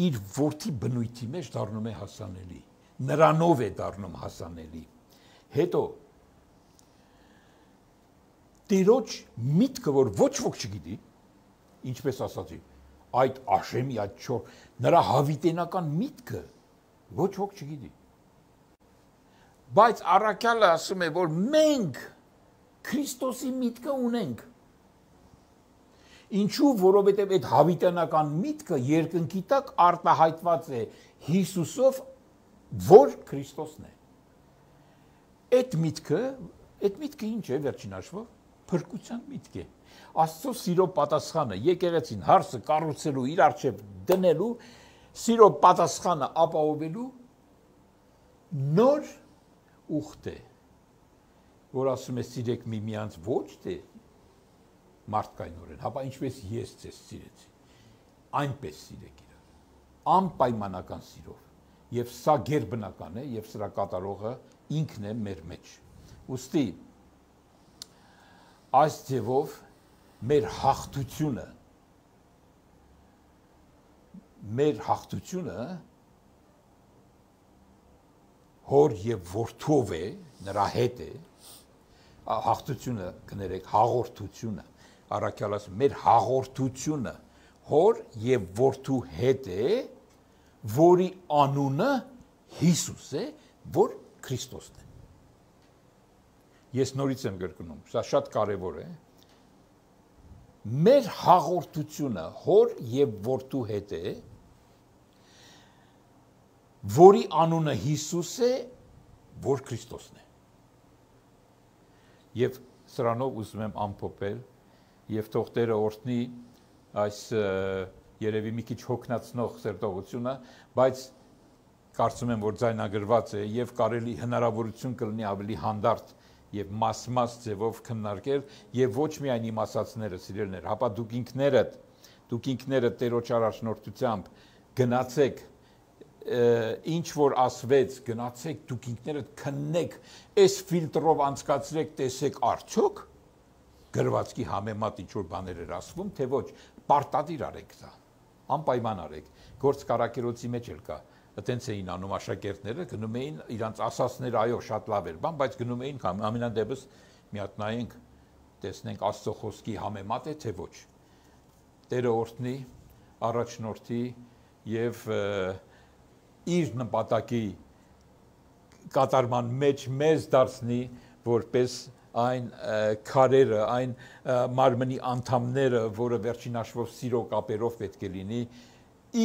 իր որդի բնույթի մեջ դառնում է հասանելի, նրանով է դառնում հասանելի։ Հետո Տիրոջ միտքը, որ ոչ ոք չգիտի, ինչպես ասացի, այդ աշեմի, այդ չոր, նրա հավիտենական միտքը ոչ ոք չգիտի։ Բայց առաքյալը ասում է, որ մենք Քրիստոսի միտքը ունենք։ Ինչու, որովհետև այդ հավիտենական միտքը երկնքի տակ արտահայտված է Հիսուսով, որ Քրիստոսն է։ Այդ միտքը, այդ միտքը ինչ է վերջին հաշվով, փրկության միտք է։ Աստծո սիրո պատասխանը, եկեղեցին հարսը կառուցելու, իր առջև դնելու, սիրո պատասխանը ապահովելու նոր ուխտ է, որ ասում է սիրեք միմյանց ոչ թե մարդկայնորեն, հապա ինչպես ես ձեզ սիրեցի, այնպես սիրեք իրար, անպայմանական սիրով, եւ սա գերբնական է, եւ սրա կատարողը ինքն է մեր մեջ։ Ուստի այս ձևով մեր հաղթությունը մեր հաղթությունը հոր եւ որդով է, նրա հետ է, հաղթությունը կներեք, հաղորդությունը, առաքյալը ասում, մեր հաղորդությունը հոր եւ որդու հետ է, որի անունը Հիսուս է, որ Քրիստոսն է։ Ես նորից եմ գրկնում, սա շատ կարևոր է։ Մեր հաղորդությունը հոր եւ որդու հետ է, որի անունը Հիսուս է, որ Քրիստոսն է։ Եվ սրանով ուզում եմ ամփոփել եւ թող Տերը օրհնի այս երևի մի քիչ հոգնածնող սերտողությունը, բայց կարծում եմ, որ ձայնագրված է եւ կարելի հնարավորություն կլինի ավելի հանդարտ եւ մաս-մաս ձևով քննարկել եւ ոչ միայն իմ ասածները, սիրելիներ, հապա դուք ինքներդ, դուք ինքներդ Տերոջ առաջնորդությամբ գնացեք ինչ որ ասվեց, գնացեք դուք ինքներդ քննեք, այս ֆիլտրով անցկացրեք, տեսեք արդյոք գրվածքի համեմատ ինչ որ բաներ էր ասվում, թե ոչ, պարտադիր արեք դա, անպայման արեք, գործ կարակերոցի մեջ էլ կա, այտենց էին անում աշակերտները, գնում էին իրանց ասածները, այո, շատ լավ էր, բան, բայց գնում էին ամենադեպս մի հատ նայենք, տեսնենք Աստծո խոսքի համեմատ է, թե ոչ, Տերը օրհնի, առաջնորդի եւ իր նպատակի կատարման մեջ մեզ դարձնի, որպես այն քարերը, այն մարմնի անդամները, որը վերջին հաշվով սիրո կապերով պետք է լինի,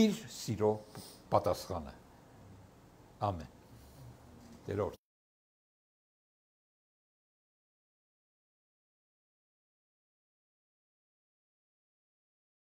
իր սիրո պատասխանը։ Ամեն։ Տեր օրհնի։